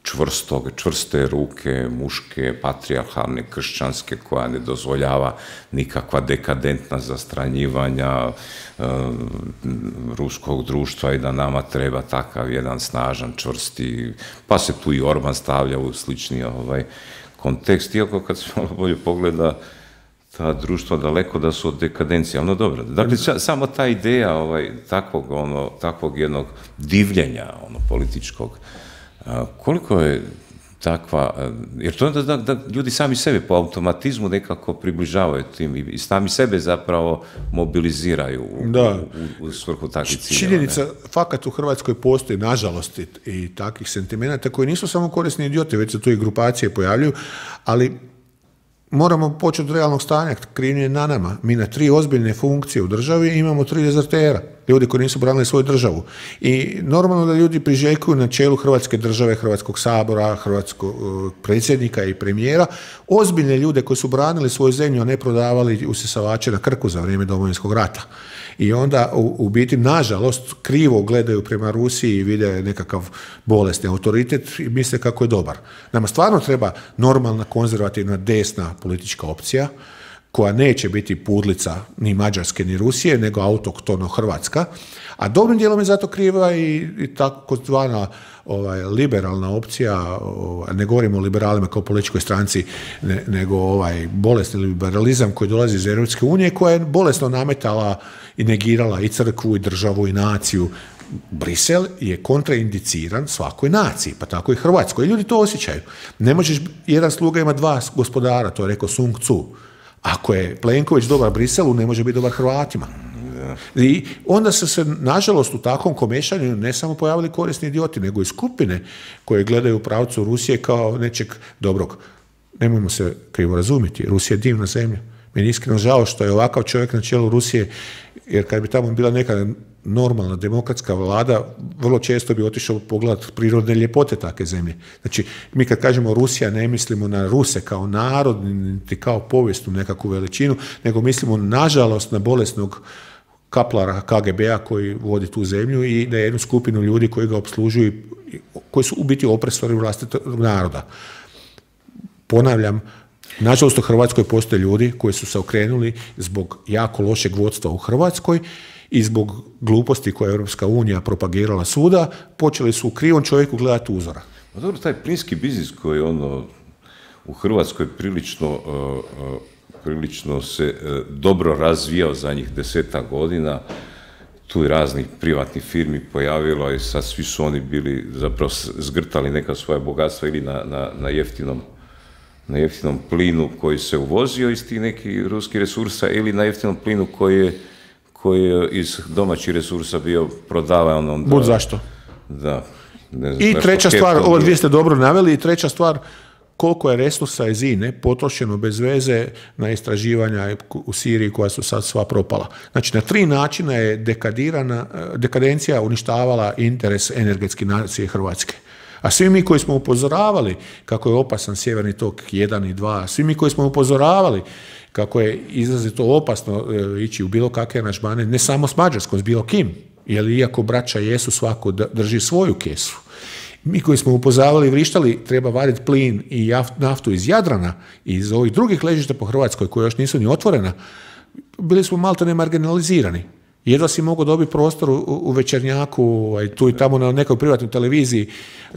čvrstog, čvrste ruke, muške, patrijarhalne, kršćanske, koja ne dozvoljava nikakva dekadentna zastranjivanja e, ruskog društva i da nama treba takav jedan snažan, čvrsti, pa se tu i Orban stavlja u slični ovaj, kontekst, iako kad se malo bolje pogleda, ta društva daleko da su od dekadencije, ono dobro. Dakle, samo ta ideja ovaj, takvog, ono, takvog jednog divljenja ono, političkog, a, koliko je takva, jer to je da, da ljudi sami sebe po automatizmu nekako približavaju tim i sami sebe zapravo mobiliziraju u, u, u svrhu takvih ciljeva. Činjenica, fakat u Hrvatskoj postoji, nažalost, i, i takvih sentimenata koji nisu samo korisni idioti, već se tu i grupacije pojavljuju, ali moramo početi od realnog stanja, krivnje je na nama. Mi na tri ozbiljne funkcije u državi imamo tri dezertera, ljudi koji nisu branili svoju državu. I normalno da ljudi priželjkuju na čelu Hrvatske države, Hrvatskog sabora, hrvatskog predsjednika i premijera, ozbiljne ljude koji su branili svoju zemlju, a ne prodavali usisavače na Krku za vrijeme Domovinskog rata. I onda u, u biti, nažalost, krivo gledaju prema Rusiji i vide nekakav bolesni autoritet i misle kako je dobar. Nama stvarno treba normalna, konzervativna, desna politička opcija, koja neće biti pudlica ni Mađarske ni Rusije, nego autoktono Hrvatska, a dobrim dijelom je zato kriva i, i takozvana ovaj, liberalna opcija, ovaj, ne govorimo o liberalima kao političkoj stranci, ne, nego ovaj bolesni liberalizam koji dolazi iz Europske unije, koja je bolesno nametala i negirala i crkvu, i državu, i naciju. Brisel je kontraindiciran svakoj naciji, pa tako i Hrvatskoj. I ljudi to osjećaju. Ne možeš, jedan sluga ima dva gospodara, to je rekao Sun Tzu. Ako je Plenković dobar Briselu, ne može biti dobar Hrvatima. I onda su se, nažalost, u takvom komešanju ne samo pojavili korisni idioti, nego i skupine koje gledaju u pravcu Rusije kao nečeg dobrog. Nemojmo se krivo razumjeti, Rusija je divna zemlja. Meni je iskreno žao što je ovakav čovjek na čelu Rusije, jer kad bi tamo bila neka normalna demokratska vlada, vrlo često bi otišao pogledati prirodne ljepote takve zemlje. Znači, mi kad kažemo Rusija, ne mislimo na Ruse kao narod, niti kao povijesnu nekakvu veličinu, nego mislimo, nažalost, na bolesnog kaplara K G B-a koji vodi tu zemlju i na jednu skupinu ljudi koji ga opslužuju, koji su u biti opresori vlastitog naroda. Ponavljam, nažalost, u Hrvatskoj postoje ljudi koji su se okrenuli zbog jako lošeg vodstva u Hrvatskoj i zbog gluposti koje je Europska unija propagirala svuda, počeli su u krivom čovjeku gledati uzora. Pa dobro, taj plinski biznis koji ono u Hrvatskoj prilično, uh, uh, prilično se uh, dobro razvijao zadnjih desetak godina, tu i raznih privatnih firmi pojavilo i sad svi su oni bili zapravo zgrtali neka svoja bogatstva ili na, na, na jeftinom na jeftinom plinu koji se uvozio iz tih nekih ruskih resursa ili na jeftinom plinu koji je koji je iz domaćih resursa bio prodavan. Onda, Bud zašto. Da. Ne znam, I treća stvar, ovo dvije ste dobro naveli, i treća stvar, koliko je resursa iz I N E potrošeno bez veze na istraživanja u Siriji koja su sad sva propala. Znači, na tri načina je dekadirana, dekadencija uništavala interes energetske nacije Hrvatske. A svi mi koji smo upozoravali kako je opasan Sjeverni tok jedan i dva, svi mi koji smo upozoravali kako je izrazito opasno e, ići u bilo kakve aranžmane, ne samo s Mađarskom, s bilo kim, jer iako braća jesu, svako drži svoju kesu. Mi koji smo upozoravali i vrištali, treba vaditi plin i naftu iz Jadrana i iz ovih drugih ležišta po Hrvatskoj koje još nisu ni otvorena, bili smo malto ne marginalizirani. Jedva si mogao dobiti prostor u, u Večernjaku, tu i tamo na nekoj privatnoj televiziji.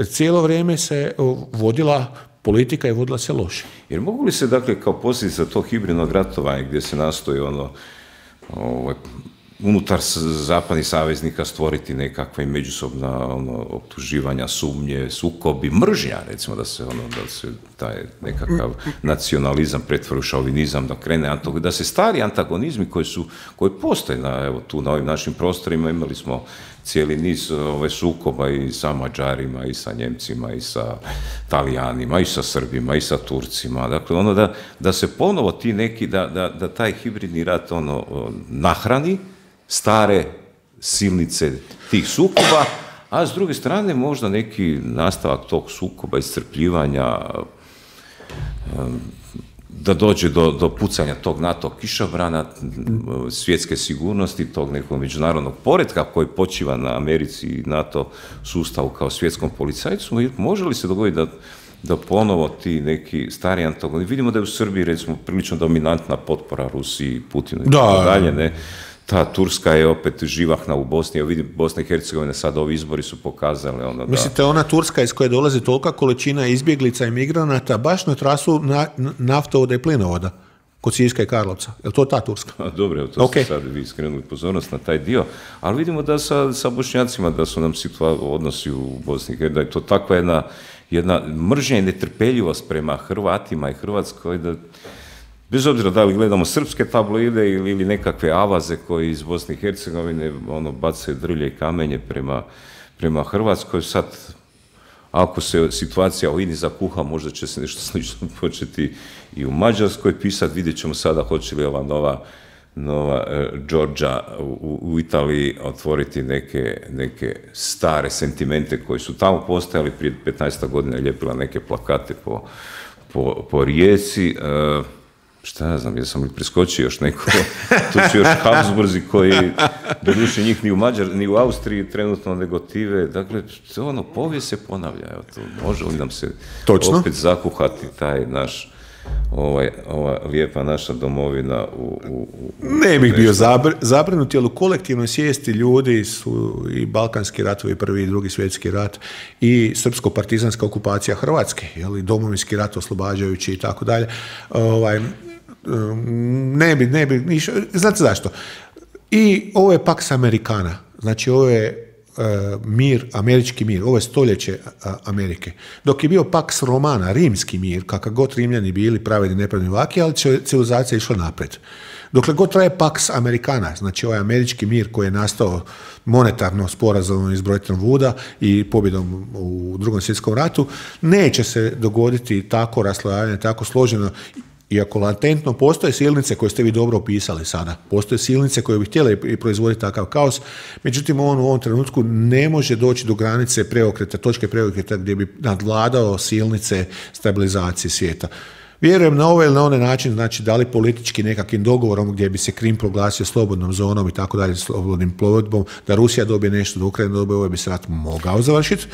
Cijelo vrijeme se vodila politika i vodila se loše. Jer mogu li se, dakle, kao posljedica tog hibridnog ratovanja gdje se nastoji ono, ovaj, unutar zapadnih saveznika stvoriti nekakve međusobna ono, optuživanja, sumnje, sukobi, mržnja, recimo da se, ono, da se taj nekakav nacionalizam pretvori u šovinizam, da krene, da se stari antagonizmi koji su, koji postoje na, evo, tu na ovim našim prostorima, imali smo cijeli niz ove sukoba i sa Mađarima, i sa Njemcima, i sa Talijanima, i sa Srbima, i sa Turcima. Dakle, ono da, da se ponovo ti neki, da, da, da taj hibridni rat ono, nahrani stare silnice tih sukoba, a s druge strane možda neki nastavak tog sukoba, iscrpljivanja, da dođe do, do pucanja tog NATO kišobrana, svjetske sigurnosti, tog nekog međunarodnog poretka koji počiva na Americi i NATO sustavu kao svjetskom policajcu. Može li se dogoditi da, da ponovo ti neki stari antagonisti, vidimo da je u Srbiji recimo prilično dominantna potpora Rusiji, Putinu i tako dalje, ne? Ta Turska je opet živahna u Bosni, evo vidim Bosna i Hercegovina, sad ovi izbori su pokazali ono da... Mislite, ona Turska iz koje dolazi tolika količina izbjeglica i migranata baš na trasu na, naftovoda i plinovoda kod Siska i Karlovca? Je li to ta Turska? A, dobro, to okay. ste sad vi skrenuli pozornost na taj dio, ali vidimo da sa, sa Bošnjacima da su nam situa- odnosi u Bosni i Hercegovini, da je to takva jedna, jedna mržnja i netrpeljivost prema Hrvatima i Hrvatskoj, da bez obzira da li gledamo srpske tabloide ili, ili nekakve avaze koji iz Bosne i Hercegovine ono, bacaju drlje i kamenje prema, prema Hrvatskoj, sad ako se situacija u Ini zakuha, možda će se nešto slično početi i u Mađarskoj pisati, vidjet ćemo sada hoće li ova nova, nova uh, Đorđa u, u Italiji otvoriti neke, neke stare sentimente koji su tamo postojali, prije petnaest godina ljepila neke plakate po, po, po Rijeci. Uh, Šta ja znam, jesam li preskočio još neko, tu su još Habsburzi koji, doduše njih ni u Mađar, ni u Austriji trenutno negotive, dakle, ono, povijest se ponavlja, evo to, može li nam se Točno. opet zakuhati taj naš, ovaj, ova lijepa naša domovina u... u, u ne bih bio zabr, zabrinut, jer u kolektivnoj svijesti ljudi su i Balkanski ratovi, prvi i drugi svjetski rat, i srpsko-partizanska okupacija Hrvatske, jel, i domovinski rat oslobađajući i tako dalje, ovaj, ne bi, ne bi, niš, znate zašto? I ovo je Pax Americana, znači ovo je uh, mir, američki mir, ovo je stoljeće uh, Amerike. Dok je bio Pax Romana, rimski mir, kakav god Rimljani bili pravedni, nepravedni vaki, ali civilizacija išla naprijed. Dokle god traje Pax Americana, znači ovaj američki mir koji je nastao monetarno sporazumom iz Bretton Wooda i pobjedom u Drugom svjetskom ratu, neće se dogoditi tako raslojavanje, tako složeno. Iako latentno postoje silnice koje ste vi dobro opisali sada, postoje silnice koje bi htjele i proizvoditi takav kaos, međutim on u ovom trenutku ne može doći do granice preokreta, točke preokreta gdje bi nadvladao silnice stabilizacije svijeta. Vjerujem na ovaj ili na onaj način, znači da li politički nekakvim dogovorom gdje bi se Krim proglasio slobodnom zonom i tako dalje, slobodnim plovidbom, da Rusija dobije nešto, da Ukrajina dobije, ovaj bi se rat mogao završiti.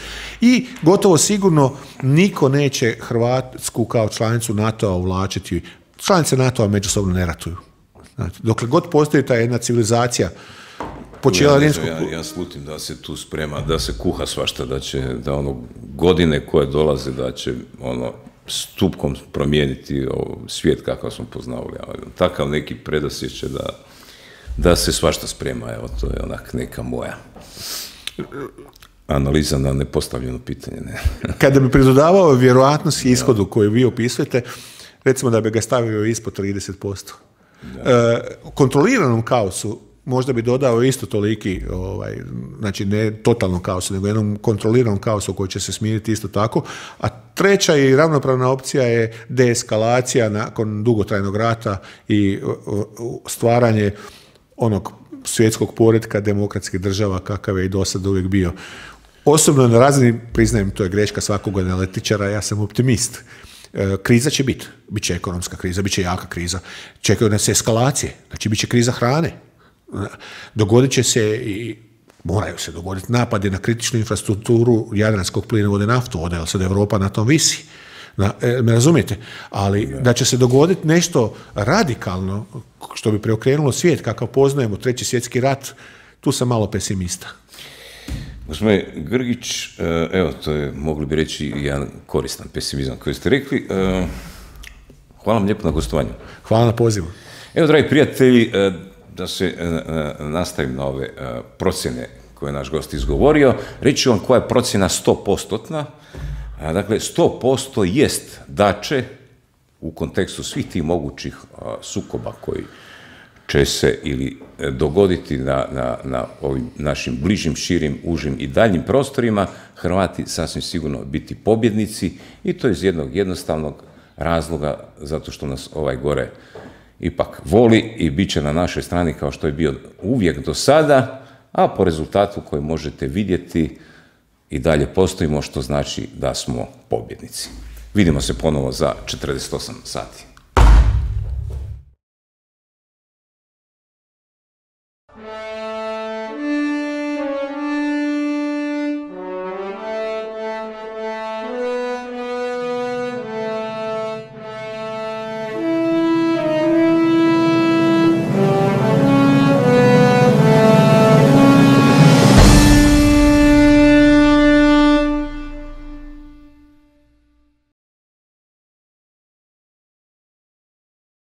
I gotovo sigurno niko neće Hrvatsku kao članicu NATO-a uvlačiti. Članice NATO-a međusobno ne ratuju. Znači, dokle god postoji ta jedna civilizacija, počela ja, rimskog... ja, ja slutim da se tu sprema, da se kuha svašta, da će, da ono, godine koje dolaze, da će, ono, stupkom promijeniti svijet kakav smo poznavali. Takav neki predosjećaj da, da se svašta sprema. Evo, to je onak neka moja analiza na nepostavljeno pitanje. Ne? Kada bi pridodavao vjerojatnost i ishodu koju vi opisujete, recimo da bi ga stavio ispod trideset posto. E, kontroliranom kaosu možda bi dodao isto toliki, ovaj, znači ne totalnom kaosu, nego jednom kontroliranom kaosu koji će se smiriti isto tako. A treća i ravnopravna opcija je deeskalacija nakon dugotrajnog rata i stvaranje onog svjetskog poretka demokratskih država kakav je i do sada uvijek bio. Osobno na razini, priznajem, to je greška svakog analitičara, ja sam optimist. Kriza će biti, bit će ekonomska kriza, bit će jaka kriza, čekaju nas eskalacije, znači bit će kriza hrane. Dogodit će se i moraju se dogoditi napadi na kritičnu infrastrukturu jadranskog plinovoda i naftovoda, jer sad Europa na tom visi. Na, e, me razumijete? Ali ja. Da će se dogoditi nešto radikalno što bi preokrenulo svijet kakav poznajemo, treći svjetski rat, tu sam malo pesimista. Gospodine Grgić, evo, to je, mogli bi reći, jedan koristan pesimizam koji ste rekli. Hvala vam lijepo na gostovanju. Hvala na pozivu. Evo, dragi prijatelji, da se nastavim na ove procjene koje je naš gost izgovorio. Reći ću vam koja je procjena sto postotna. Dakle, sto posto jest da će u kontekstu svih tih mogućih sukoba koji će se ili dogoditi na, na, na ovim našim bližim, širim, užim i daljim prostorima, Hrvati sasvim sigurno biti pobjednici, i to iz jednog jednostavnog razloga, zato što nas ovaj gore ipak voli i bit će na našoj strani kao što je bio uvijek do sada, a po rezultatu koji možete vidjeti i dalje postojimo, što znači da smo pobjednici. Vidimo se ponovo za četrdeset osam sati.